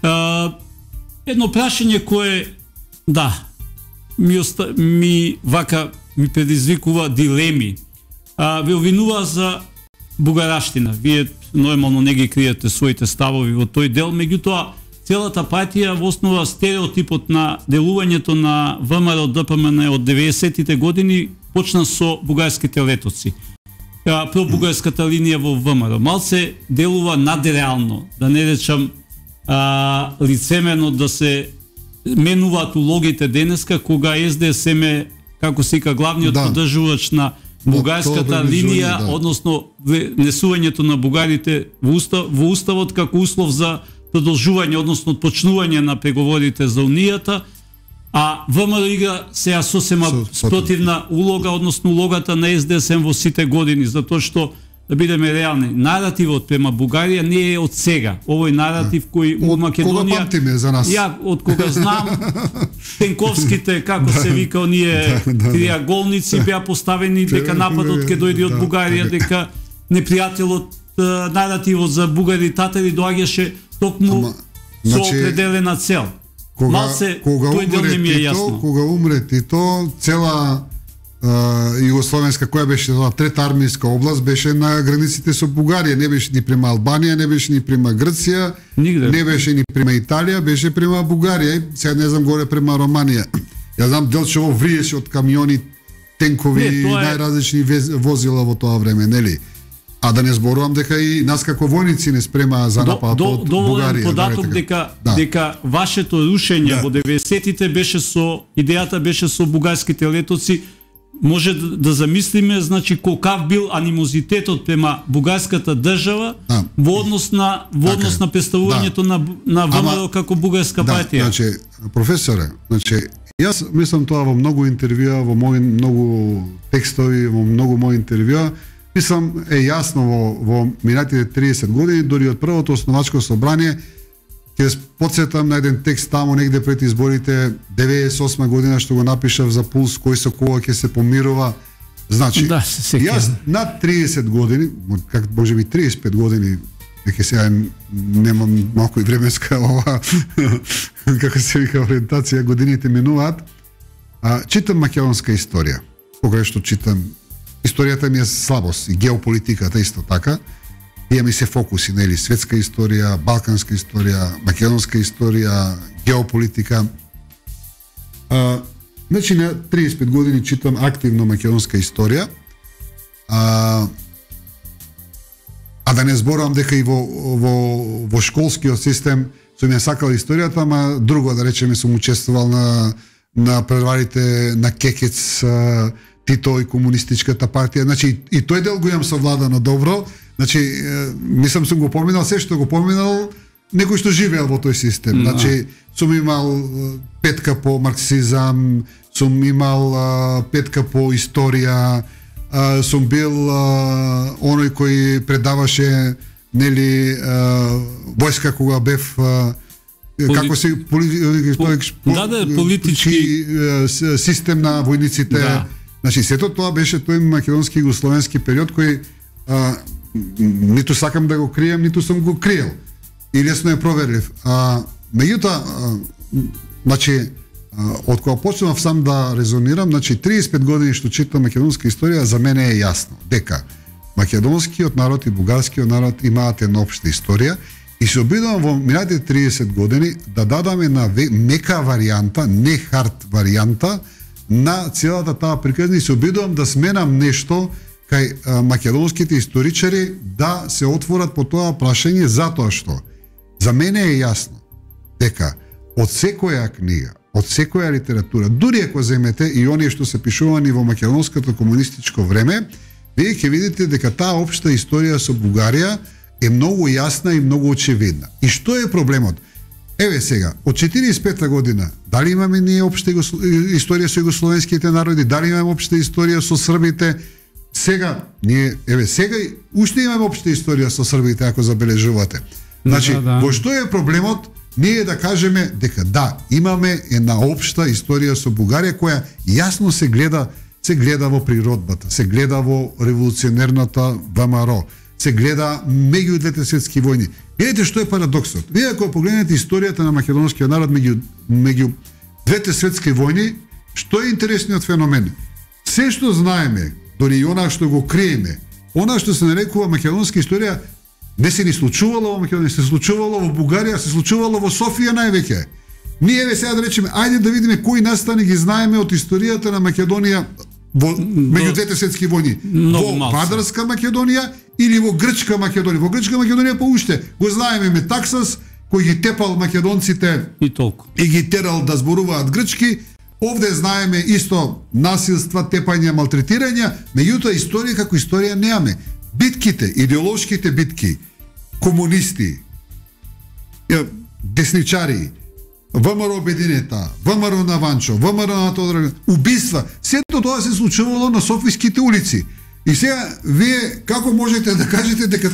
A: А, едно прашање кое, да, ми, оста, ми вака ми предизвикува дилеми. А, ве обвинува за бугараштина. Вие нормално не ги криете своите ставови во тој дел, меѓутоа целата партија во основа стереотипот на делувањето на ВМРО Д П М Н од деветдесетите години почна со бугарските летоци. Пробугарската линија во ВМРО малце делува надреално, да не речам а, лицемерно да се менуваат улогите денеска кога С Д С М е, како се вика, главниот да. поддржувач на бугарската линија, да. односно внесувањето на бугарите во, устав, во уставот како услов за продолжување, односно почнување на преговорите за Унијата, а ВМРО игра сега сосема спротивна улога, односно улогата на С Д С М во сите години, затоа што да бидеме реални, наративот према Бугарија не е од сега. Овој наратив кој во Македонија...
B: Кога памтиме за нас?
A: Ја, од кога знам, тенковските, како се вика, оние триаголници беа поставени дека нападот ќе дојде од Бугарија, дека непријателот, наративот за бугари татари доаѓаше токму со определена цел.
B: Кога,
A: Малце,
B: кога
A: тој дел не ми е
B: Тито,
A: јасно.
B: кога умре Тито, цела uh, Југословенска, која беше тоа трета армијска област, беше на границите со Бугарија, не беше ни према Албанија, не беше ни према Грција,
A: Нигде.
B: не беше ни према Италија, беше према Бугарија, сега не знам горе према Романија. Ја знам делчево вриеше од камиони, тенкови и
A: е...
B: најразлични возила во тоа време, нели? А да не зборувам дека и нас како војници не спрема за напад
A: до,
B: од
A: до,
B: Бугарија.
A: податок дека
B: да.
A: дека вашето рушење
B: да.
A: во деветдесетите беше со идејата беше со бугарските летоци. Може да, да замислиме, значи колкав бил анимозитетот према бугарската држава
B: да.
A: во однос на во однос на представувањето да. на на ВМРО како бугарска
B: да,
A: партија.
B: Значи, професоре, значи јас мислам тоа во многу интервјуа, во мои многу текстови, во многу мои интервјуа. Мислам е јасно во, во минатите триесет години, дори од првото основачко собрание, ќе потсетам на еден текст таму негде пред изборите деветдесет и осма година што го напишав за Пулс, кој со кога ќе се помирува. Значи,
A: да,
B: јас над триесет години, как можеби триесет и пет години, дека сега немам малку и временска ова, како се вика ориентација, годините минуваат, а, читам македонска историја. Кога што читам историјата ми е слабост и геополитиката исто така. Имаме се фокуси, нели, светска историја, балканска историја, македонска историја, геополитика. А, значи на триесет и пет години читам активно македонска историја. А, а да не зборувам дека и во во во школскиот систем сум ја сакал историјата, ама друго да речеме сум учествувал на на преварите на Кекец, Тито и комунистичката партија, значи и тој дел го имам совладано добро, значи мислам сум го поминал се што го поминал некој што живеел во тој систем. No. Значи сум имал петка по марксизам, сум имал а, петка по историја, а, сум бил а, оној кој предаваше нели а, војска кога бев а, Поли... како се поли...
A: По... да, да, политички
B: систем на војниците. Да. Значи, сето тоа беше тој македонски и југословенски период кој а, ниту сакам да го крием, ниту сум го криел. И лесно е проверлив. А, меѓутоа, значи, од кога почнав сам да резонирам, значи, триесет и пет години што читам македонска историја, за мене е јасно дека македонскиот народ и бугарскиот народ имаат една општа историја и се обидувам во минатите триесет години да дадаме на мека варијанта, не хард варијанта, на целата таа приказна и се обидувам да сменам нешто кај а, македонските историчари да се отворат по тоа прашање, затоа што за мене е јасно дека од секоја книга, од секоја литература, дури ако земете и оние што се пишувани во македонското комунистичко време, вие ќе видите дека таа општа историја со Бугарија е многу јасна и многу очевидна. И што е проблемот? Еве сега, од четириесет и пета година, дали имаме ние општа историја со југословенските народи, дали имаме општа историја со србите? Сега, ние, еве, сега уште имаме општа историја со србите, ако забележувате. Значи, да, да. Во што е проблемот? Ние да кажеме дека да, имаме една општа историја со Бугарија која јасно се гледа, се гледа во природбата, се гледа во револуционерната ВМРО, се гледа меѓу двете светски војни. Видете што е парадоксот. Вие ако погледнете историјата на македонскиот народ меѓу меѓу двете светски војни, што е интересниот феномен? Се што знаеме, дори и она што го криеме, она што се нарекува македонска историја, не се ни случувало во Македонија, се случувало во Бугарија, се случувало во Софија највеќе. Ние еве сега да речеме, ајде да видиме кои настани ги знаеме од историјата на Македонија во меѓу двете светски војни. Во Вадарска Македонија или во Грчка Македонија. Во Грчка Македонија поуште го знаеме Метаксас кој ги тепал македонците
A: и толку. И
B: ги терал да зборуваат грчки. Овде знаеме исто насилства, тепања, малтретирања, меѓутоа историја како историја немаме. Битките, идеолошките битки, комунисти, десничари, ВМРО Обединета, ВМРО на Ванчо, ВМРО на Тодор, убиства, сето тоа се случувало на софиските улици. И сега, вие како можете да кажете дека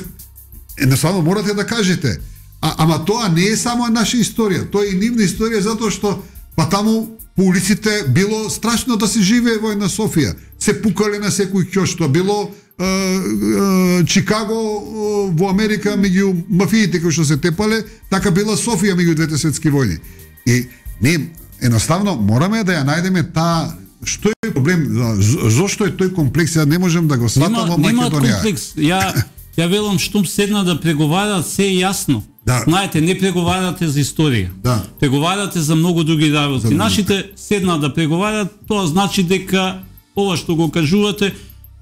B: едноставно морате да кажете, а, ама тоа не е само наша историја, тоа е и нивна историја затоа што па таму по улиците било страшно да се живее во една Софија. Се пукале на секој ќош, тоа било е, е, Чикаго е, во Америка меѓу мафиите кои што се тепале, така била Софија меѓу двете светски војни. И ние едноставно мораме да ја најдеме таа што е проблем, зошто е тој комплекс, ја не можам да го сватам во Македонија.
A: Нема комплекс. Ја ја велам штом седна да преговарат, се е јасно.
B: Да.
A: Знаете, не преговарате за историја.
B: Да.
A: Преговарате за многу други работи.
B: За
A: Нашите седна да преговарат, тоа значи дека ова што го кажувате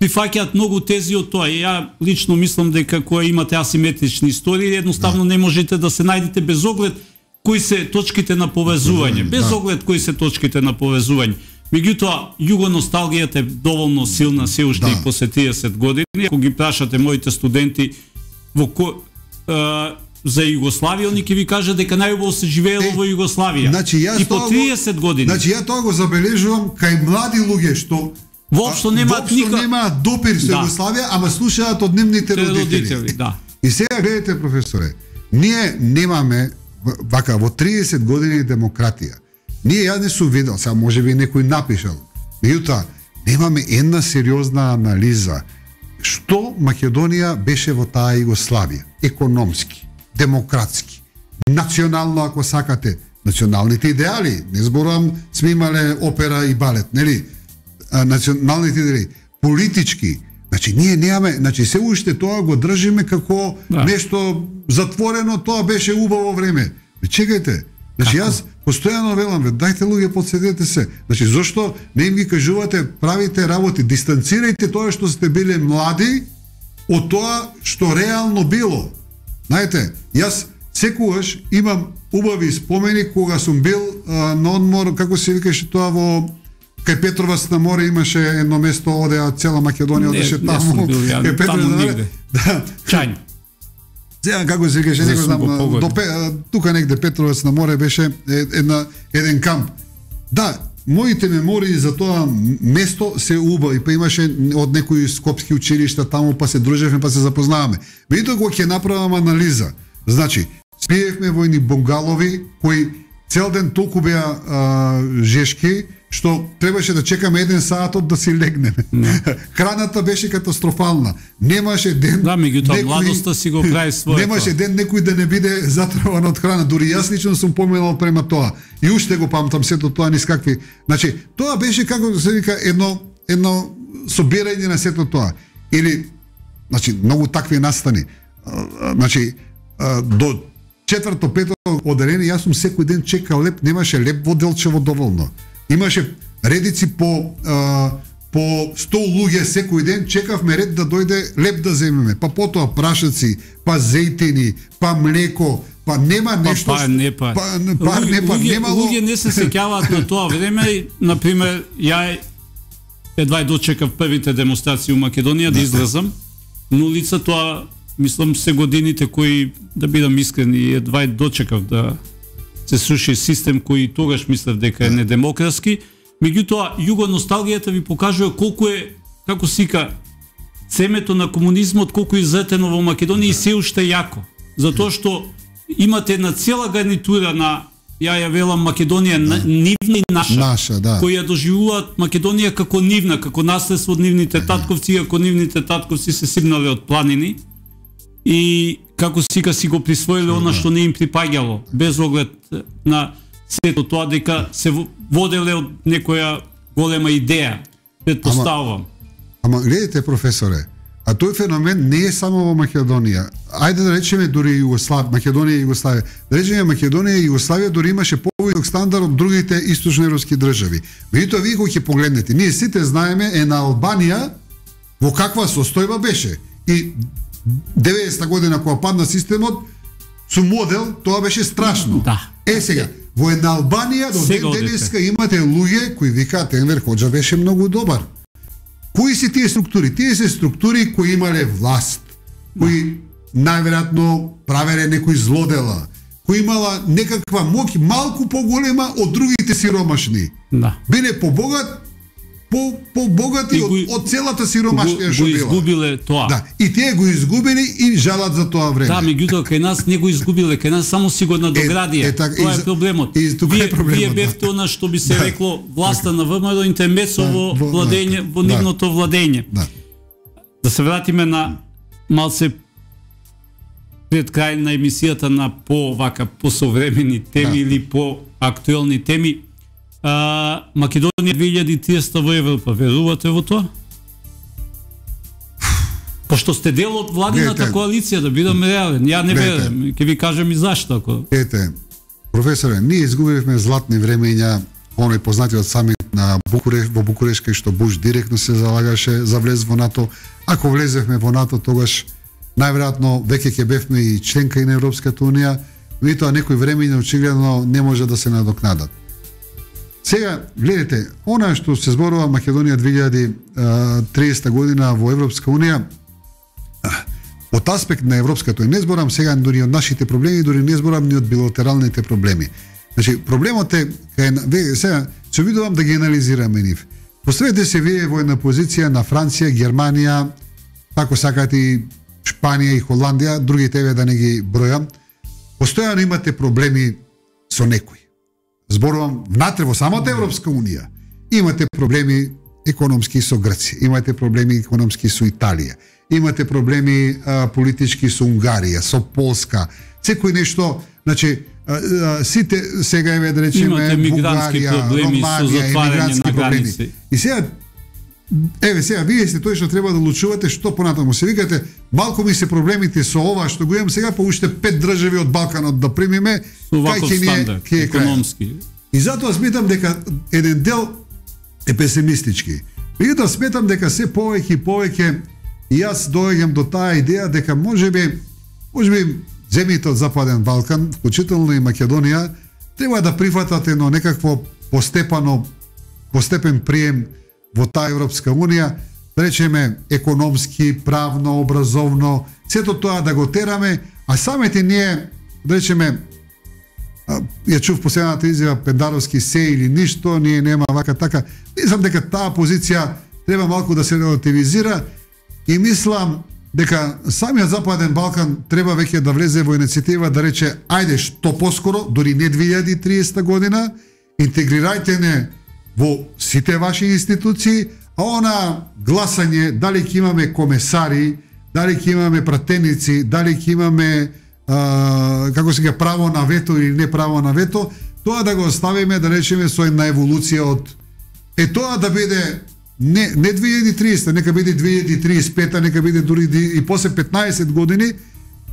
A: прифаќаат многу тези од тоа. И ја лично мислам дека кога имате асиметрични истории, едноставно да. Не можете да се најдете без оглед кои се точките на повезување, без да. Оглед кои се точките на повезување. Меѓутоа, југоносталгијата е доволно силна се уште да. И после триесет години. Ако ги прашате моите студенти во ко, е, за Југославија, они ќе ви кажат дека најубаво се живеело е, во Југославија.
B: Значи,
A: и по триесет го, години.
B: Значи, ја тоа го забележувам кај млади луѓе што
A: воопшто немаат
B: ника... нема допир со да. Југославија, ама слушаат од нивните родители.
A: родители да.
B: И сега гледате, професоре, ние немаме вака во триесет години демократија. Ние ја не сум видел, сега може би некој напишал. Меѓутоа, немаме една сериозна анализа што Македонија беше во таа Југославија, економски, демократски, национално ако сакате, националните идеали, не зборувам сме имале опера и балет, нели? А, националните идеали, политички, значи ние немаме, значи се уште тоа го држиме како да. Нешто затворено, тоа беше убаво време. Чекајте, значи како? Јас постојано велам, ве, дајте луѓе, подседете се. Значи зошто не им ги кажувате, правите работи, дистанцирајте тоа што сте биле млади од тоа што реално било. Знаете, јас секогаш имам убави спомени кога сум бил а, на одмор, како се викаше тоа во кај Петровац на море, имаше едно место одеа цела Македонија одеше таму.
A: Бил, ја,
B: кај Петровац
A: таму
B: на море. Да.
A: Чањ.
B: Сега како се викаше, не го знам, до тука негде Петровац на море беше една еден камп. Да, моите мемории за тоа место се убави, па имаше од некои скопски училишта таму, па се дружевме, па се запознаваме. Меѓутоа кога ќе направам анализа, значи, спиевме во едни бунгалови кои цел ден толку беа а, жешки, што требаше да чекаме еден саат од да си легнеме. No. Храната беше катастрофална. Немаше ден...
A: Да, меѓутоа младоста си го прави своето.
B: Немаше ден некој да не биде затрован од храна. Дури јас лично сум поминал према тоа. И уште го памтам сето тоа низ какви... Значи, тоа беше, како се вика, едно, едно собирање на сето тоа. Или, значи, многу такви настани. Значи, до четврто, пето оделение, јас сум секој ден чекал леп, немаше леп во Делчево доволно. Имаше редици по а, по сто луѓе секој ден, чекавме ред да дојде леп да земеме. Па потоа прашаци, па зејтини, па млеко, па нема нешто.
A: Па, па не па.
B: Па, па не па
A: луѓе,
B: немало.
A: Луѓе не се сеќаваат на тоа време. На пример, ја едва дочекав првите демонстрации у Македонија да излезам на улица, тоа мислам се годините кои, да бидам искрен, и едва дочекав да се сруши систем кој тогаш мислев дека е недемократски. Меѓутоа, југоносталгијата ви покажува колку е, како сика, семето на комунизмот, колку е изретено во Македонија и се уште јако. Затоа што имате една цела гарнитура на, ја ја велам, Македонија да. Нивна и наша,
B: наша да.
A: Кои ја доживуваат Македонија како нивна, како наследство од нивните татковци, ако нивните татковци се сигнале од планини и како сика си го присвоиле она што не им припаѓало, без оглед на сето тоа дека се воделе од некоја голема идеја, предпоставувам.
B: Ама, ама гледате, професоре, а тој феномен не е само во Македонија. Ајде да речеме дури Југославија, Македонија и Југославија. Да речеме Македонија и Југославија дури имаше повисок стандард од другите источноевропски држави. Меѓутоа вие кога ќе погледнете, ние сите знаеме е на Албанија во каква состојба беше. И деветдесета година кога падна системот, со модел, тоа беше страшно.
A: Да.
B: Е сега, во една Албанија до ден денеска имате луѓе кои викаат Енвер Хоџа беше многу добар. Кои се тие структури? Тие се структури кои имале власт, кои најверојатно правеле некои злодела, кои имала некаква моќ малку поголема од другите сиромашни.
A: Да.
B: Биле побогат, по побогати од, од целата сиромашија што
A: била. Го изгубиле тоа.
B: Да, и тие го изгубили и жалат за тоа време.
A: Да, меѓутоа кај нас не го изгубиле, кај нас само си го надоградија. Е, е, так, тоа е проблемот.
B: И,
A: вие,
B: е проблемот,
A: вие бевте
B: да.
A: она што би се да. рекло власта на ВМРО интермецо
B: да,
A: во
B: во,
A: владење, во
B: да.
A: нивното владење.
B: Да.
A: Да се вратиме на малце пред крај на емисијата на по вака посовремени теми да. или по актуелни теми. А, Македонија две илјади и триесета во Европа, верувате во тоа? Пошто сте дел од владината Ете, коалиција, да бидам реален. Ја не верувам, ќе ви кажам и зашто. Ако...
B: Ете, професоре, ние изгубивме златни времења, оној познатиот самит на Букуреш, во Букуреш, кај што Буш директно се залагаше за влез во НАТО. Ако влезевме во НАТО, тогаш најверојатно веќе ќе бевме и членка и на Европската унија, но и тоа некои времења очигледно не може да се надокнадат. Сега, гледате, она што се зборува Македонија две илјади и триесета година во Европска унија, од аспект на европското, и не зборам сега дури од нашите проблеми, дури не зборам ни од билатералните проблеми. Значи, проблемот е, кај, сега, се обидувам да ги анализираме нив. Поставете се вие во една позиција на Франција, Германија, ако сакате и Шпанија и Холандија, другите еве да не ги бројам, постојано имате проблеми со некои. Зборувам внатре во самата Европска унија. Имате проблеми економски со Грција, имате проблеми економски со Италија, имате проблеми а, политички со Унгарија, со Полска, секој нешто, значи а, а, сите сега еве да речеме Бугарија, Романија, емигрантски проблеми. И сега еве сега вие сте тој што треба да одлучувате што понатаму. Се викате, малку ми се проблемите со ова што го имам сега, па уште пет држави од Балканот да примиме, кај ќе ни е економски. И затоа сметам дека еден дел е песимистички. Меѓутоа сметам дека се повеќе и повеќе и јас доаѓам до таа идеја дека можеби можеби земјите од Западен Балкан, вклучително и Македонија, треба да прифатат едно некакво постепано постепен прием во таа Европска унија, да речеме економски, правно, образовно, сето тоа да го тераме, а самите ние, да речеме, ја чув последната изјава Пендаровски се или ништо, ние нема вака така. Мислам дека таа позиција треба малку да се релативизира и мислам дека самиот Западен Балкан треба веќе да влезе во иницијатива да рече ајде што поскоро, дури не две илјади и триесета година, интегрирајте не во сите ваши институции, а она гласање, дали ќе имаме комесари, дали ќе имаме пратеници, дали ќе имаме а, како се га право на вето или не право на вето, тоа да го оставиме, да речеме, со една еволуција од е тоа да биде не, не две илјади и триесета, нека биде две илјади и триесет и пета, нека биде дури и после петнаесет години,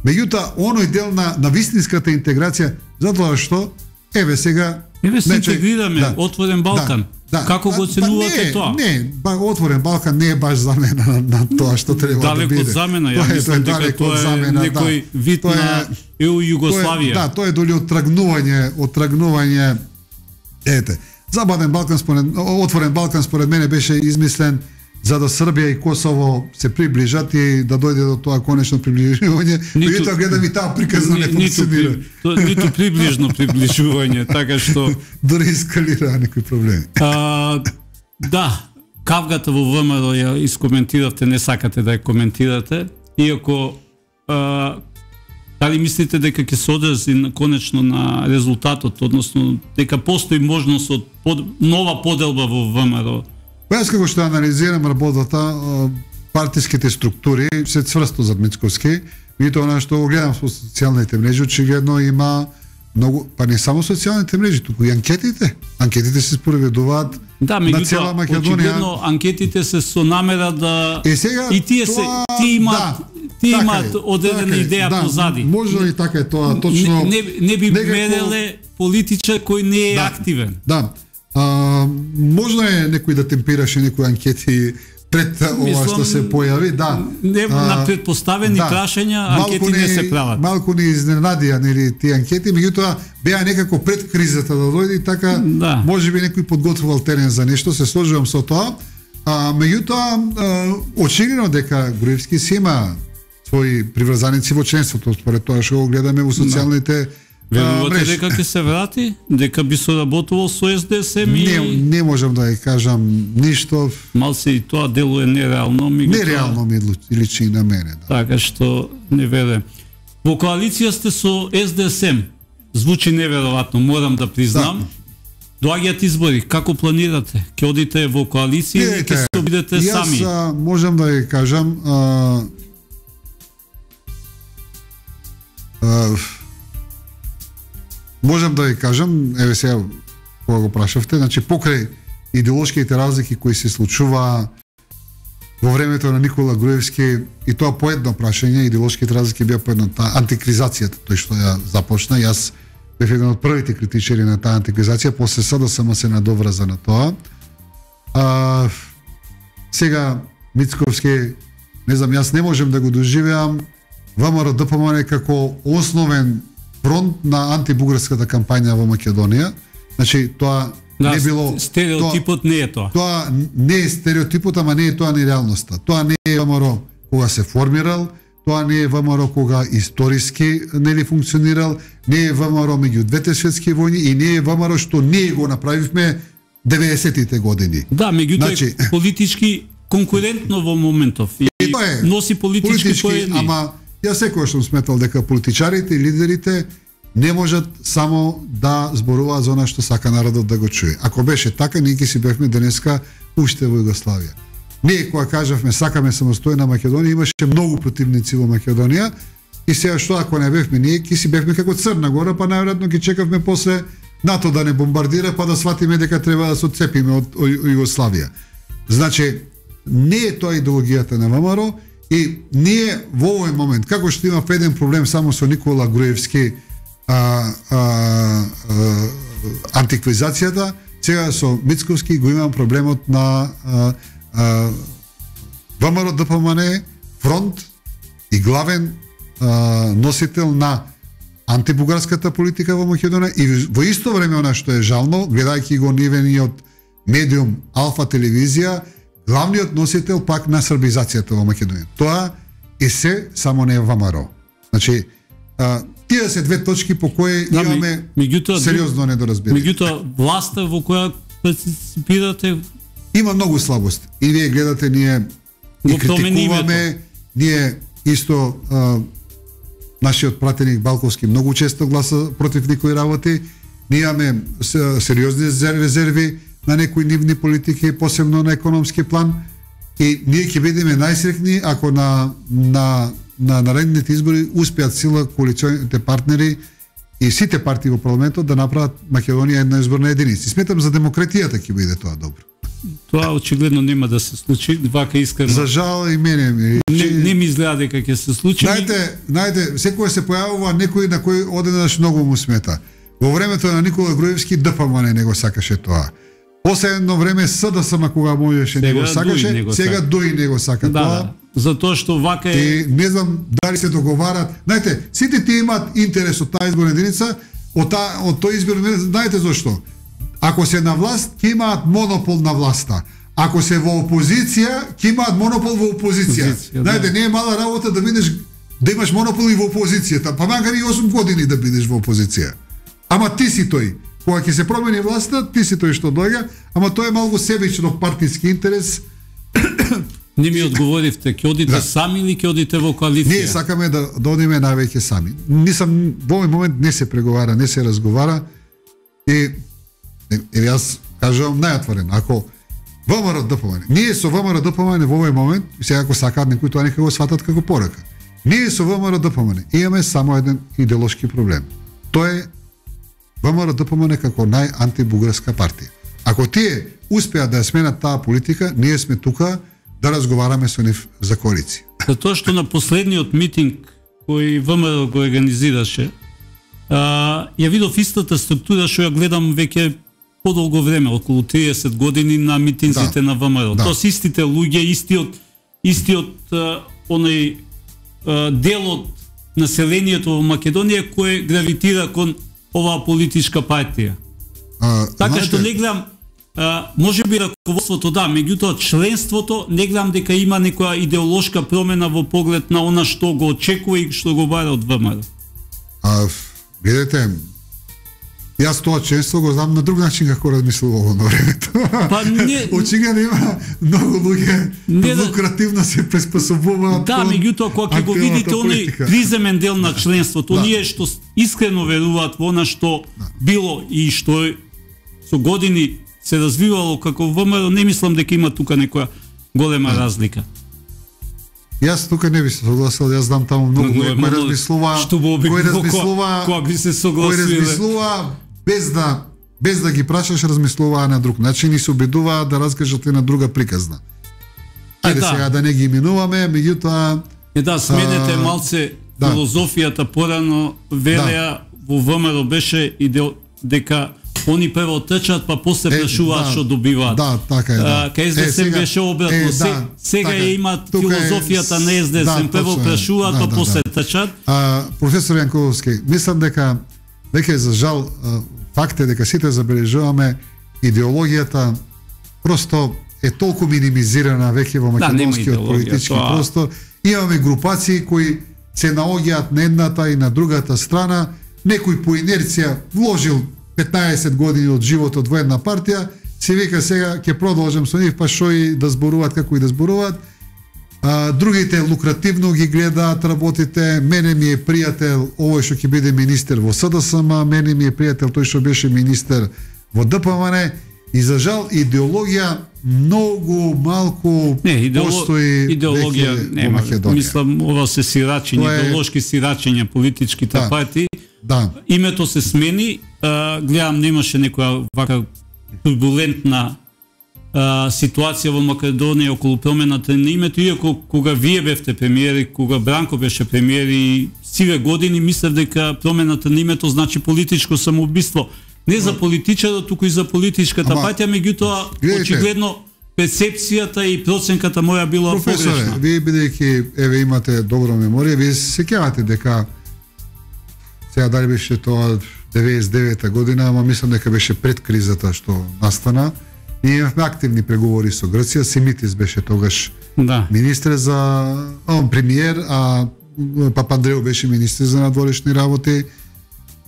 B: меѓутоа оној дел на, на вистинската интеграција, затоа што еве сега
A: еве се интегрираме, да, Отворен Балкан. Да, да. Како го оценувате
B: не,
A: тоа?
B: Не, ба, Отворен Балкан не е баш замена на, на тоа што треба
A: далеко
B: да биде.
A: Далеко од замена, ја мислам дека тоа е замена, некој да. вид тоа на ЕУ Југославија.
B: Да, тоа е доли оттрагнување, оттрагнување. Ете, Западен Балкан според Отворен Балкан според мене беше измислен за да Србија и Косово се приближат и да дојде до тоа конечно приближување. Меѓутоа гледам и таа приказна не функционира.
A: Ниту, ниту приближно приближување, така што
B: дури ескалира некои проблеми.
A: А, да, кавгата во ВМРО ја искоментиравте, не сакате да ја коментирате, иако а, дали мислите дека ќе се одрази конечно на резултатот, односно дека постои можност од под, нова поделба во ВМРО?
B: Па јас како што анализирам работата, партиските структури се цврсто зад Мицковски, и тоа она што го гледам со социјалните мрежи, очигледно има многу, па не само социјалните мрежи, туку и анкетите. Анкетите се спроведуваат
A: да,
B: на цела Македонија.
A: Очигледно анкетите се со намера да
B: е, сега,
A: и тие
B: тоа,
A: се ти имаат
B: да,
A: ти
B: така
A: имаат одредена
B: така
A: идеја
B: да,
A: позади.
B: Може и така е тоа, точно.
A: Не, не, не би
B: некако...
A: мереле политичар кој не е
B: да,
A: активен.
B: Да. А, можно е некој да темпираше некои анкети пред ова што се појави, да.
A: Не, а, на предпоставени да, прашања анкети не, не се прават. Малку
B: не изненадија нели тие анкети, меѓутоа беа некако пред кризата да дојде и така да. Можеби некој подготвувал терен за нешто, се сложувам со тоа. А меѓутоа очигледно дека Груевски си има своји приврзаници во членството, според тоа што го гледаме во социјалните
A: Верувате дека ќе се врати? Дека би соработувал со С Д С М?
B: Не, не можам да ја кажам ништо.
A: Мал се и тоа дело е нереално.
B: Нереално ми личи и на мене. Да.
A: Така што не верувам. Во коалиција сте со С Д С М. Звучи неверојатно, морам да признам. Да. Доаѓаат избори, како планирате? Ќе одите во коалиција или ќе се обидете сами?
B: Јас можам да ја кажам, а, а, можам да ја кажам, еве сега кога го прашавте, значи покрај идеолошките разлики кои се случува во времето на Никола Груевски, и тоа по едно прашање, идеолошките разлики беа по едно, таа антикризацијата, тој што ја започна, јас бев еден од првите критичари на таа антикризација, после С Д С М се надоврза на тоа. А, сега Мицковски, не знам, јас не можем да го доживеам В М Р Д П М Н како основен фронт на антибугарската кампања во Македонија. Значи тоа
A: да,
B: не било
A: стереотипот тоа, не е тоа.
B: Тоа не е стереотипот, ама не е тоа ни реалноста. Тоа не е В М Р кога се формирал, тоа не е В М Р кога историски нели функционирал, не е В М Р меѓу двете светски војни и не е В М Р што ние го направивме деветдесетите години.
A: Да, меѓутоа значи, политички конкурентно во моментов и, и
B: е,
A: носи политички, политички поени.
B: Ама јас секогаш сум сметал дека политичарите и лидерите не можат само да зборуваат за она што сака народот да го чуе. Ако беше така, ние ќе си бевме денеска уште во Југославија. Ние кога кажавме сакаме самостојна Македонија, имаше многу противници во Македонија и сега што ако не бевме ние, ќе си бевме како Црна Гора, па најверојатно ќе чекавме после НАТО да не бомбардира, па да сватиме дека треба да се отцепиме од Југославија. Значи, не е тоа идеологијата на В М Р и ние во овој момент, како што имав еден проблем само со Никола Груевски, а, а, а, антиквизацијата, сега со Мицковски го имам проблемот на а, а, В М Р Д П М Н фронт и главен а, носител на антибугарската политика во Македонија и во исто време она што е жално, гледајќи го нивениот медиум Алфа телевизија, главниот носител пак на србизацијата во Македонија. Тоа е се, само не В М Р. Значи, а, тие се две точки по кои да, имаме меѓутоа, сериозно недоразбирање.
A: Меѓутоа, власта во која партиципирате
B: има многу слабости. И вие гледате, ние и критикуваме, ние исто а, нашиот пратеник Балковски многу често гласа против некои работи. Ние имаме сериозни резерви на некои нивни политики, посебно на економски план. И ние ќе бидеме најсрекни ако на на на наредните избори успеат сила коалиционите партнери и сите партии во парламентот да направат Македонија една изборна единица. Сметам за демократијата ќе биде тоа добро.
A: Тоа очигледно нема да се случи, вака искрено.
B: За жал и мене ми.
A: Не, не ми изгледа дека ќе се случи.
B: Знаете, знаете, секој се појавува некој на кој одеднаш многу му смета. Во времето на Никола Груевски Д П М Н не го сакаше тоа. После едно време С Д С М кога можеше не го сакаше, сега Дуи не го сака
A: да,
B: тоа.
A: Да. Затоа што вака е
B: и не знам дали се договарат. Знаете, сите тие имаат интерес од таа изборна единица, од таа од тој избор, знаете зошто? Ако се на власт, ќе имаат монопол на власта. Ако се во опозиција, ќе имаат монопол во опозиција. опозиција знаете, да. Не е мала работа да бидеш да имаш монопол и во опозицијата, па макар и осум години да бидеш во опозиција. Ама ти си тој. Кога ќе се промени власта, ти си тој што доаѓа, ама тоа е малку себично партиски интерес.
A: Не ми одговоривте, ќе одите да. Сами или ќе одите во коалиција?
B: Ние сакаме да, да одиме највеќе сами. Нисам, во овој момент не се преговара, не се разговара и е, јас кажувам најотворено, ако В М Р Д П М Н, ние со В М Р Д П М Н во овој момент, сега ако сакаат некои тоа нека го сватат како порака. Ние со В М Р Д П М Н имаме само еден идеолошки проблем. Тоа е В М Р Д П М Н како најантибугарска партија. Ако тие успеат да ја сменат таа политика, ние сме тука да разговараме со нив за коалиција.
A: Затоа што на последниот митинг кој В М Р го организираше, а, ја видов истата структура што ја гледам веќе подолго време, околу триесет години на митинзите да. На В М Р. Да. Тоа се истите луѓе, истиот истиот а, оној а, дел од населението во Македонија кој гравитира кон оваа политичка партија. А, така знаете... што не гледам, а, може би раководството да, меѓутоа членството не гледам дека има некоја идеолошка промена во поглед на она што го очекува и што го бара од В М Р.
B: А, Видете, јас тоа често го знам на друг начин како размислувало на времето.
A: Па не...
B: Очигледно има многу луѓе лукративно се приспособуваат.
A: Да, меѓутоа кога ќе го видите оној приземен дел на членството, да. Оние што искрено веруваат во она што да. Било и што со години се развивало како ВМРО, не мислам дека има тука некоја голема да. Разлика.
B: Јас тука не би се согласил, јас знам таму многу кој кој размислува, кој размислува,
A: кој би се согласил,
B: кој размислува без да без да ги прашаш, размислуваа на друг начин и се обидуваа да раскажат и на друга приказна. Ајде да. Сега да не ги именуваме, меѓутоа
A: е да сменете а, малце да. Филозофијата порано велеа да. Во ВМРО беше идео дека они прво трчат, па после прашуваат што да, добиваат.
B: Да, така е. Да.
A: Кај СДСМ беше обратно. Е, да, сега така, имаат филозофијата е, на СДСМ, да, прво прашуваат, да, па да, после да. Трчат.
B: А, професор Јанковски, мислам дека веќе за жал факт е дека сите забележуваме идеологијата просто е толку минимизирана веќе во македонскиот да, политички тоа... простор. Имаме групации кои се наоѓаат на едната и на другата страна, некој по инерција вложил петнаесет години од животот во една партија, се вика сега ќе продолжам со нив, па што и да зборуваат како и да зборуваат. А, другите лукративно ги гледаат работите. Мене ми е пријател овој што ќе биде министер во СДСМ, мене ми е пријател тој што беше министер во ДПМН, и за жал идеологија многу малку
A: не, идеолог...
B: постои
A: идеологија нема. Мислам ова се сирачење, е... идеолошки сирачења политичките да. Партии. Да. Името се смени, а, гледам немаше некоја вака турбулентна а, ситуација во Македонија околу промената на името, иако кога вие бевте премиери, кога Бранко беше премиер и сиве години, мислев дека промената на името значи политичко самоубиство. Не за политичарот, туку и за политичката Ама, партија, меѓутоа очигледно перцепцијата и проценката моја била погрешна.
B: Професоре, вие бидејќи еве имате добра меморија, вие се сеќавате дека сега дали беше тоа деветдесет и девета година, ама мислам дека беше пред кризата што настана. Ние имавме активни преговори со Грција, Симитис беше тогаш да. Министер за он премиер, а Папандреу беше министер за надворешни работи.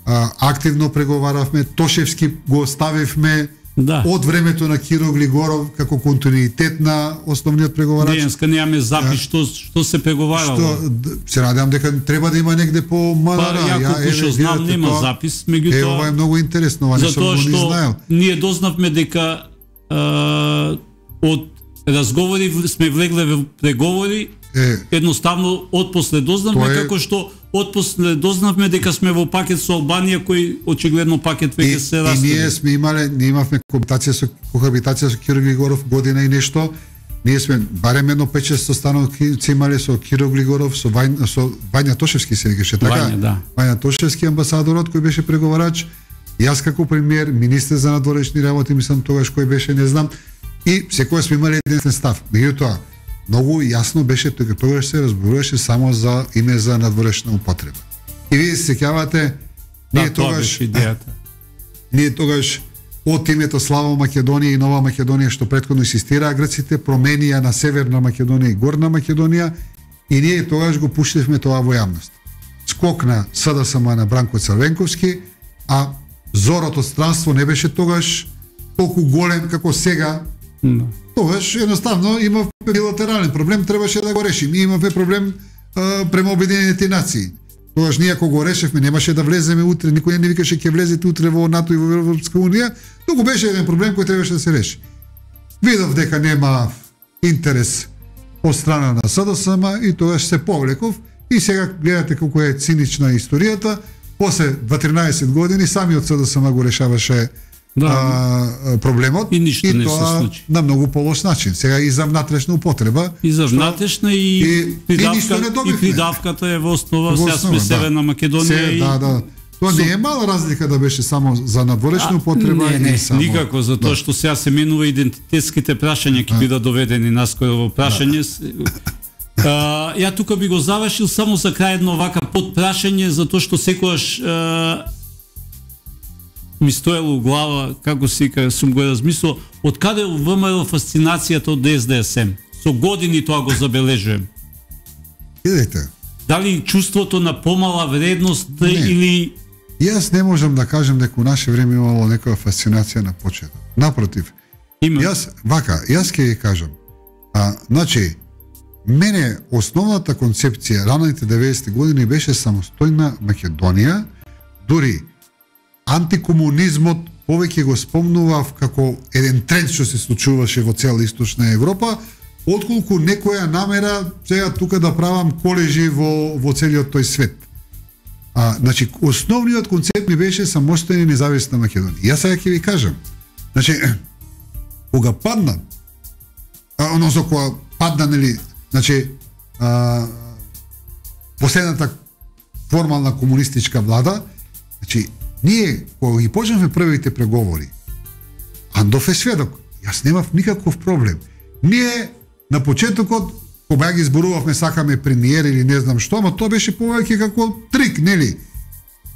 B: А, активно преговаравме, Тошевски го оставивме да. Од времето на Киро Глигоров како континуитет на основниот преговарач.
A: Денеска немаме запис што што се преговарало.
B: Што се надевам дека треба да има негде по МНР.
A: Па, ја што знам нема тоа, запис, меѓутоа.
B: Е, ова е многу интересно, ова нешто го не знаел.
A: Ние дознавме дека а, од разговори сме влегле во преговори. Е, едноставно отпосле дознавме е... како што отпосле дознавме дека сме во пакет со Албанија, кој очигледно пакет веќе се растави.
B: И ние сме имале, ние имавме кохабитација со кохабитација со Киро Глигоров година и нешто. Ние сме барем едно пет-шест становки имале со Киро Глигоров, со Вања, со Вања Тошевски се викаше така.
A: Вања, да.
B: Вања Тошевски амбасадорот кој беше преговарач. Јас како премиер, министер за надворешни работи, мислам тогаш кој беше, не знам. И секој сме имале еден став. Меѓутоа, многу јасно беше дека тогаш се разборуваше само за име за надворешна употреба. И вие се сеќавате, ние
A: да,
B: тогаш
A: идејата.
B: Ние тогаш од името Слава Македонија и Нова Македонија што претходно инсистираа грците, променија на Северна Македонија и Горна Македонија, и ние тогаш го пуштивме тоа во јавност. Скок на СДСМ на Бранко Црвенковски, а зорот од странство не беше тогаш толку голем како сега.
A: No.
B: Тогаш едноставно имавме билатерален проблем, требаше да го решим. И имавме проблем а, према Обединените нации. Тогаш ние ако го решевме, немаше да влеземе утре, никој не викаше ќе влезете утре во НАТО и во Европска унија, туку беше еден проблем кој требаше да се реши. Видов дека нема интерес од страна на СДСМ и тогаш се повлеков, и сега гледате колку е цинична историјата. После дванаесет години самиот СДСМ го решаваше да. а, проблемот
A: и, и не
B: тоа
A: се случи.
B: На многу полошначин. Сега и за внатрешна употреба.
A: И за внатрешна и, и, придавка, и, и придавката е во основа, сега сме Северна Македонија.
B: Се,
A: и...
B: Да, да. Тоа не е мала разлика да беше само за надворешна употреба.
A: Не, не,
B: и само...
A: никако, затоа што сега се менува идентитетските прашања, ќе бидат доведени наскоро во прашање. А, ја тука би го завршил само за крај едно вака подпрашање, затоа што секогаш а, ми стоело у глава, како сика, сум го размислил, од каде ВМРО фасцинацијата од СДСМ? Со години тоа го забележувам.
B: Идете.
A: Дали чувството на помала вредност не. Или
B: Јас не можам да кажам дека у наше време имало некоја фасцинација на почеток. Напротив.
A: Има.
B: Јас вака, јас ќе ви кажам. А, значи, мене основната концепција раните деветдесети години беше самостојна Македонија, дури антикомунизмот повеќе го спомнував како еден тренд што се случуваше во цела Источна Европа, отколку некоја намера сега тука да правам колежи во, во целиот тој свет. А, значи, основниот концепт ми беше самостојна и независна Македонија. Јас сега ќе ви кажам. Значи, кога падна, а, односно кога падна, нели, значи, а, последната формална комунистичка влада, значи, ние, кога ги почнавме првите преговори, Андов е сведок, јас немав никаков проблем. Ние, на почетокот, кога ги зборувавме, сакаме премиер или не знам што, но тоа беше повеќе како трик, нели?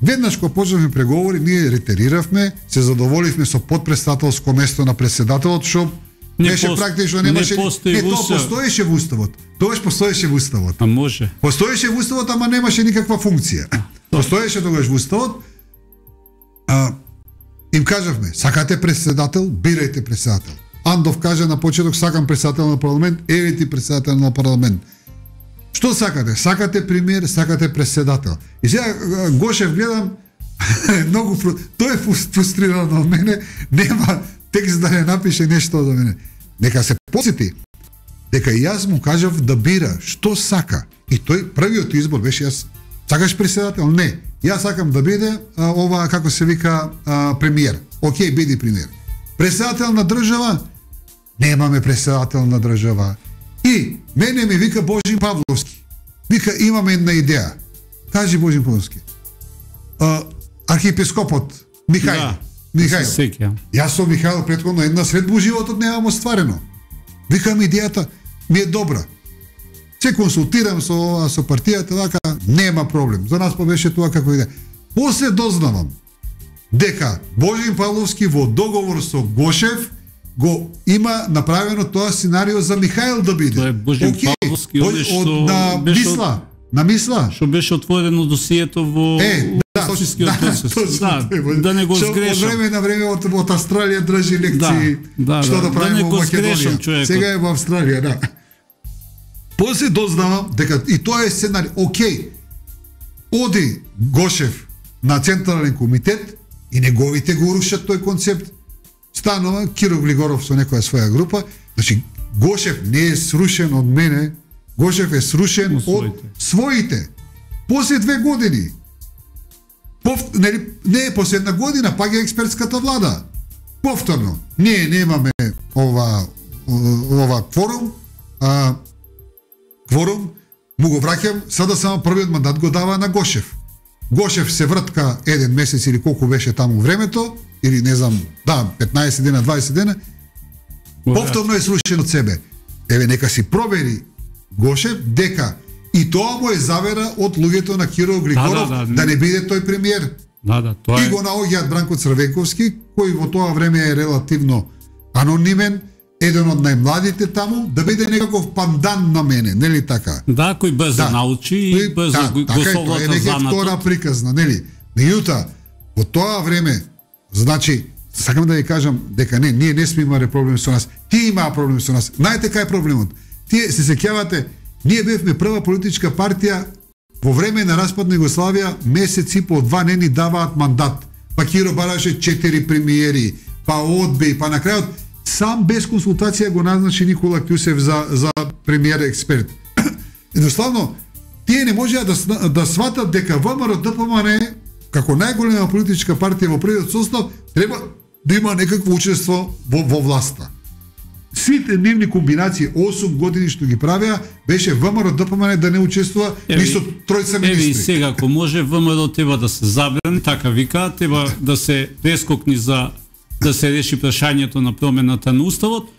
B: Веднаш кога почнавме преговори, ние ретериравме, се задоволивме со подпредседателско место на председателот, што
A: не
B: беше
A: пост...
B: практично немаше
A: не, не
B: тоа постоеше во уставот. Тоа постоеше во уставот.
A: А може.
B: Постоеше во уставот, ама немаше никаква функција. Постоеше тогаш во уставот. А, им кажавме, сакате председател, бирајте председател. Андов каже на почеток, сакам председател на парламент, еве ти председател на парламент. Што сакате? Сакате премиер, сакате председател. И сега Гошев гледам, многу тој е фрустриран од мене, нема текст да не напише нешто за мене. Нека се посети дека јас му кажав да бира што сака. И тој првиот избор беше јас сакаш председател? Не. Јас сакам да биде а, ова како се вика а, премиер. Океј, биди премиер. Председател на држава? Немаме председател на држава. И мене ми вика Божин Павловски. Вика, имаме една идеја. Кажи Божин Павловски. А, архиепископот Михаил.
A: Да,
B: Михаил. Јас со Михаил претходно една средба во животот немам остварено. Викам, идејата ми е добра. Се консултирам со со партијата, вака, нема проблем. За нас беше тоа како идеја. После дознавам дека Божин Павловски во договор со Гошев го има направено тоа сценарио за Михаил да биде.
A: Тоа е Божин okay. Павловски,
B: од, од, на мисла, на мисла.
A: Што беше отворено досието во
B: е, да,
A: фашистскиот процес. Да, да, да не го сгрешам.
B: Од време на време од, од Австралија држи лекции
A: да, да,
B: што да, да правиме
A: да
B: во Македонија. Сега е во Австралија, да. После дознавам дека и тоа е сценарий. Океј. Оди Гошев на Централен комитет и неговите го рушат тој концепт. Станува Киро Глигоров со некоја своја група. Значи, Гошев не е срушен од мене, Гошев е срушен од своите. своите. После две години, пов, не, не е после една година, пак е експертската влада. Повторно, ние немаме ова, ова кворум, а, кворум, му го враќам, сада само првиот мандат го дава на Гошев. Гошев се вртка еден месец или колку беше таму времето, или не знам, да, петнаесет дена, дваесет дена, повторно е срушен од себе. Еве, нека си провери Гошев дека и тоа му е завера од луѓето на Киро Глигоров да, да, да, да не биде тој премиер.
A: Да, да, тоа е.
B: И го наоѓаат Бранко Црвенковски, кој во тоа време е релативно анонимен, еден од најмладите таму, да биде некаков пандан на мене, нели така?
A: Да, кој без да научи и без да, го, го совлада занатот. Така е, тоа е втора приказна, нели? Меѓутоа, во тоа време, значи, сакам да ви кажам дека не, ние не сме имале проблем со нас. Тие имаа проблем со нас. Знаете кај е проблемот? Тие се сеќавате, ние бевме прва политичка партија во време на распад на Југославија, месец и по два не ни даваат мандат. Па Киро бараше четири премиери, па одби, па на крајот сам без консултација го назначи Никола Кјусев за за премиер експерт. Едноставно, тие не можеа да да сватат дека ВМРО Д П М Н како најголема политичка партија во првиот состав треба да има некакво учество во, во власта. Сите нивни комбинации осум години што ги правеа беше ВМРО Д П М Н да не учествува ни со тројца министри. Еви сега ако може ВМРО треба да се забрани, така вика, треба да се прескокни за да се реши прашањето на промената на уставот.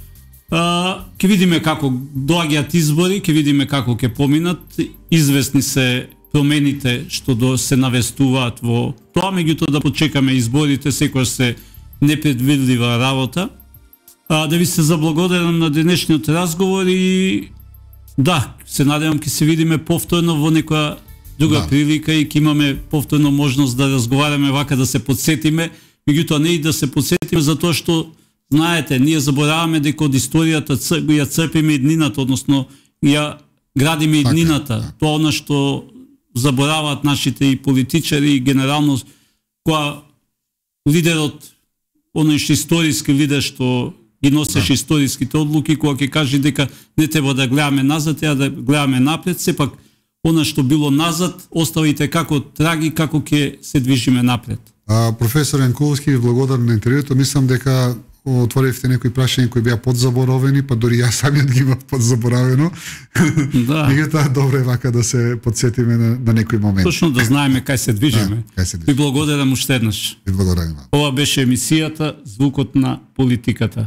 A: А, ќе видиме како доаѓаат избори, ќе видиме како ќе поминат. Известни се промените што до се навестуваат во тоа, меѓутоа да почекаме изборите, секој се непредвидлива работа. А, да ви се заблагодарам на денешниот разговор и да, се надевам ќе се видиме повторно во некоја друга
B: да.
A: прилика и ќе имаме повторно можност да разговараме вака, да се подсетиме, меѓутоа не и да се подсетиме затоа што знаете, ние забораваме дека од историјата ја црпиме иднината, односно ја градиме иднината.
B: Така,
A: Тоа она што забораваат нашите и политичари и генерално која лидерот, оној што историски лидер што ги носеше да. историските одлуки, кога ќе каже дека не треба да гледаме назад, а да гледаме напред, сепак она што било назад, оставите како траги, како ќе се движиме напред.
C: А, професор Јанкуловски, ви благодарам на интервјуто. Мислам дека отворивте некои прашања кои беа подзаборовени, па дури јас самиот ги имав подзаборавено.
A: Да.
C: Меѓутоа добро е вака да се подсетиме на, на некои моменти.
A: Точно да знаеме кај се движиме.
C: Да, кај се движиме.
A: Ви благодарам уште еднаш.
C: Ви благодарам.
A: Ова беше емисијата Звукот на политиката.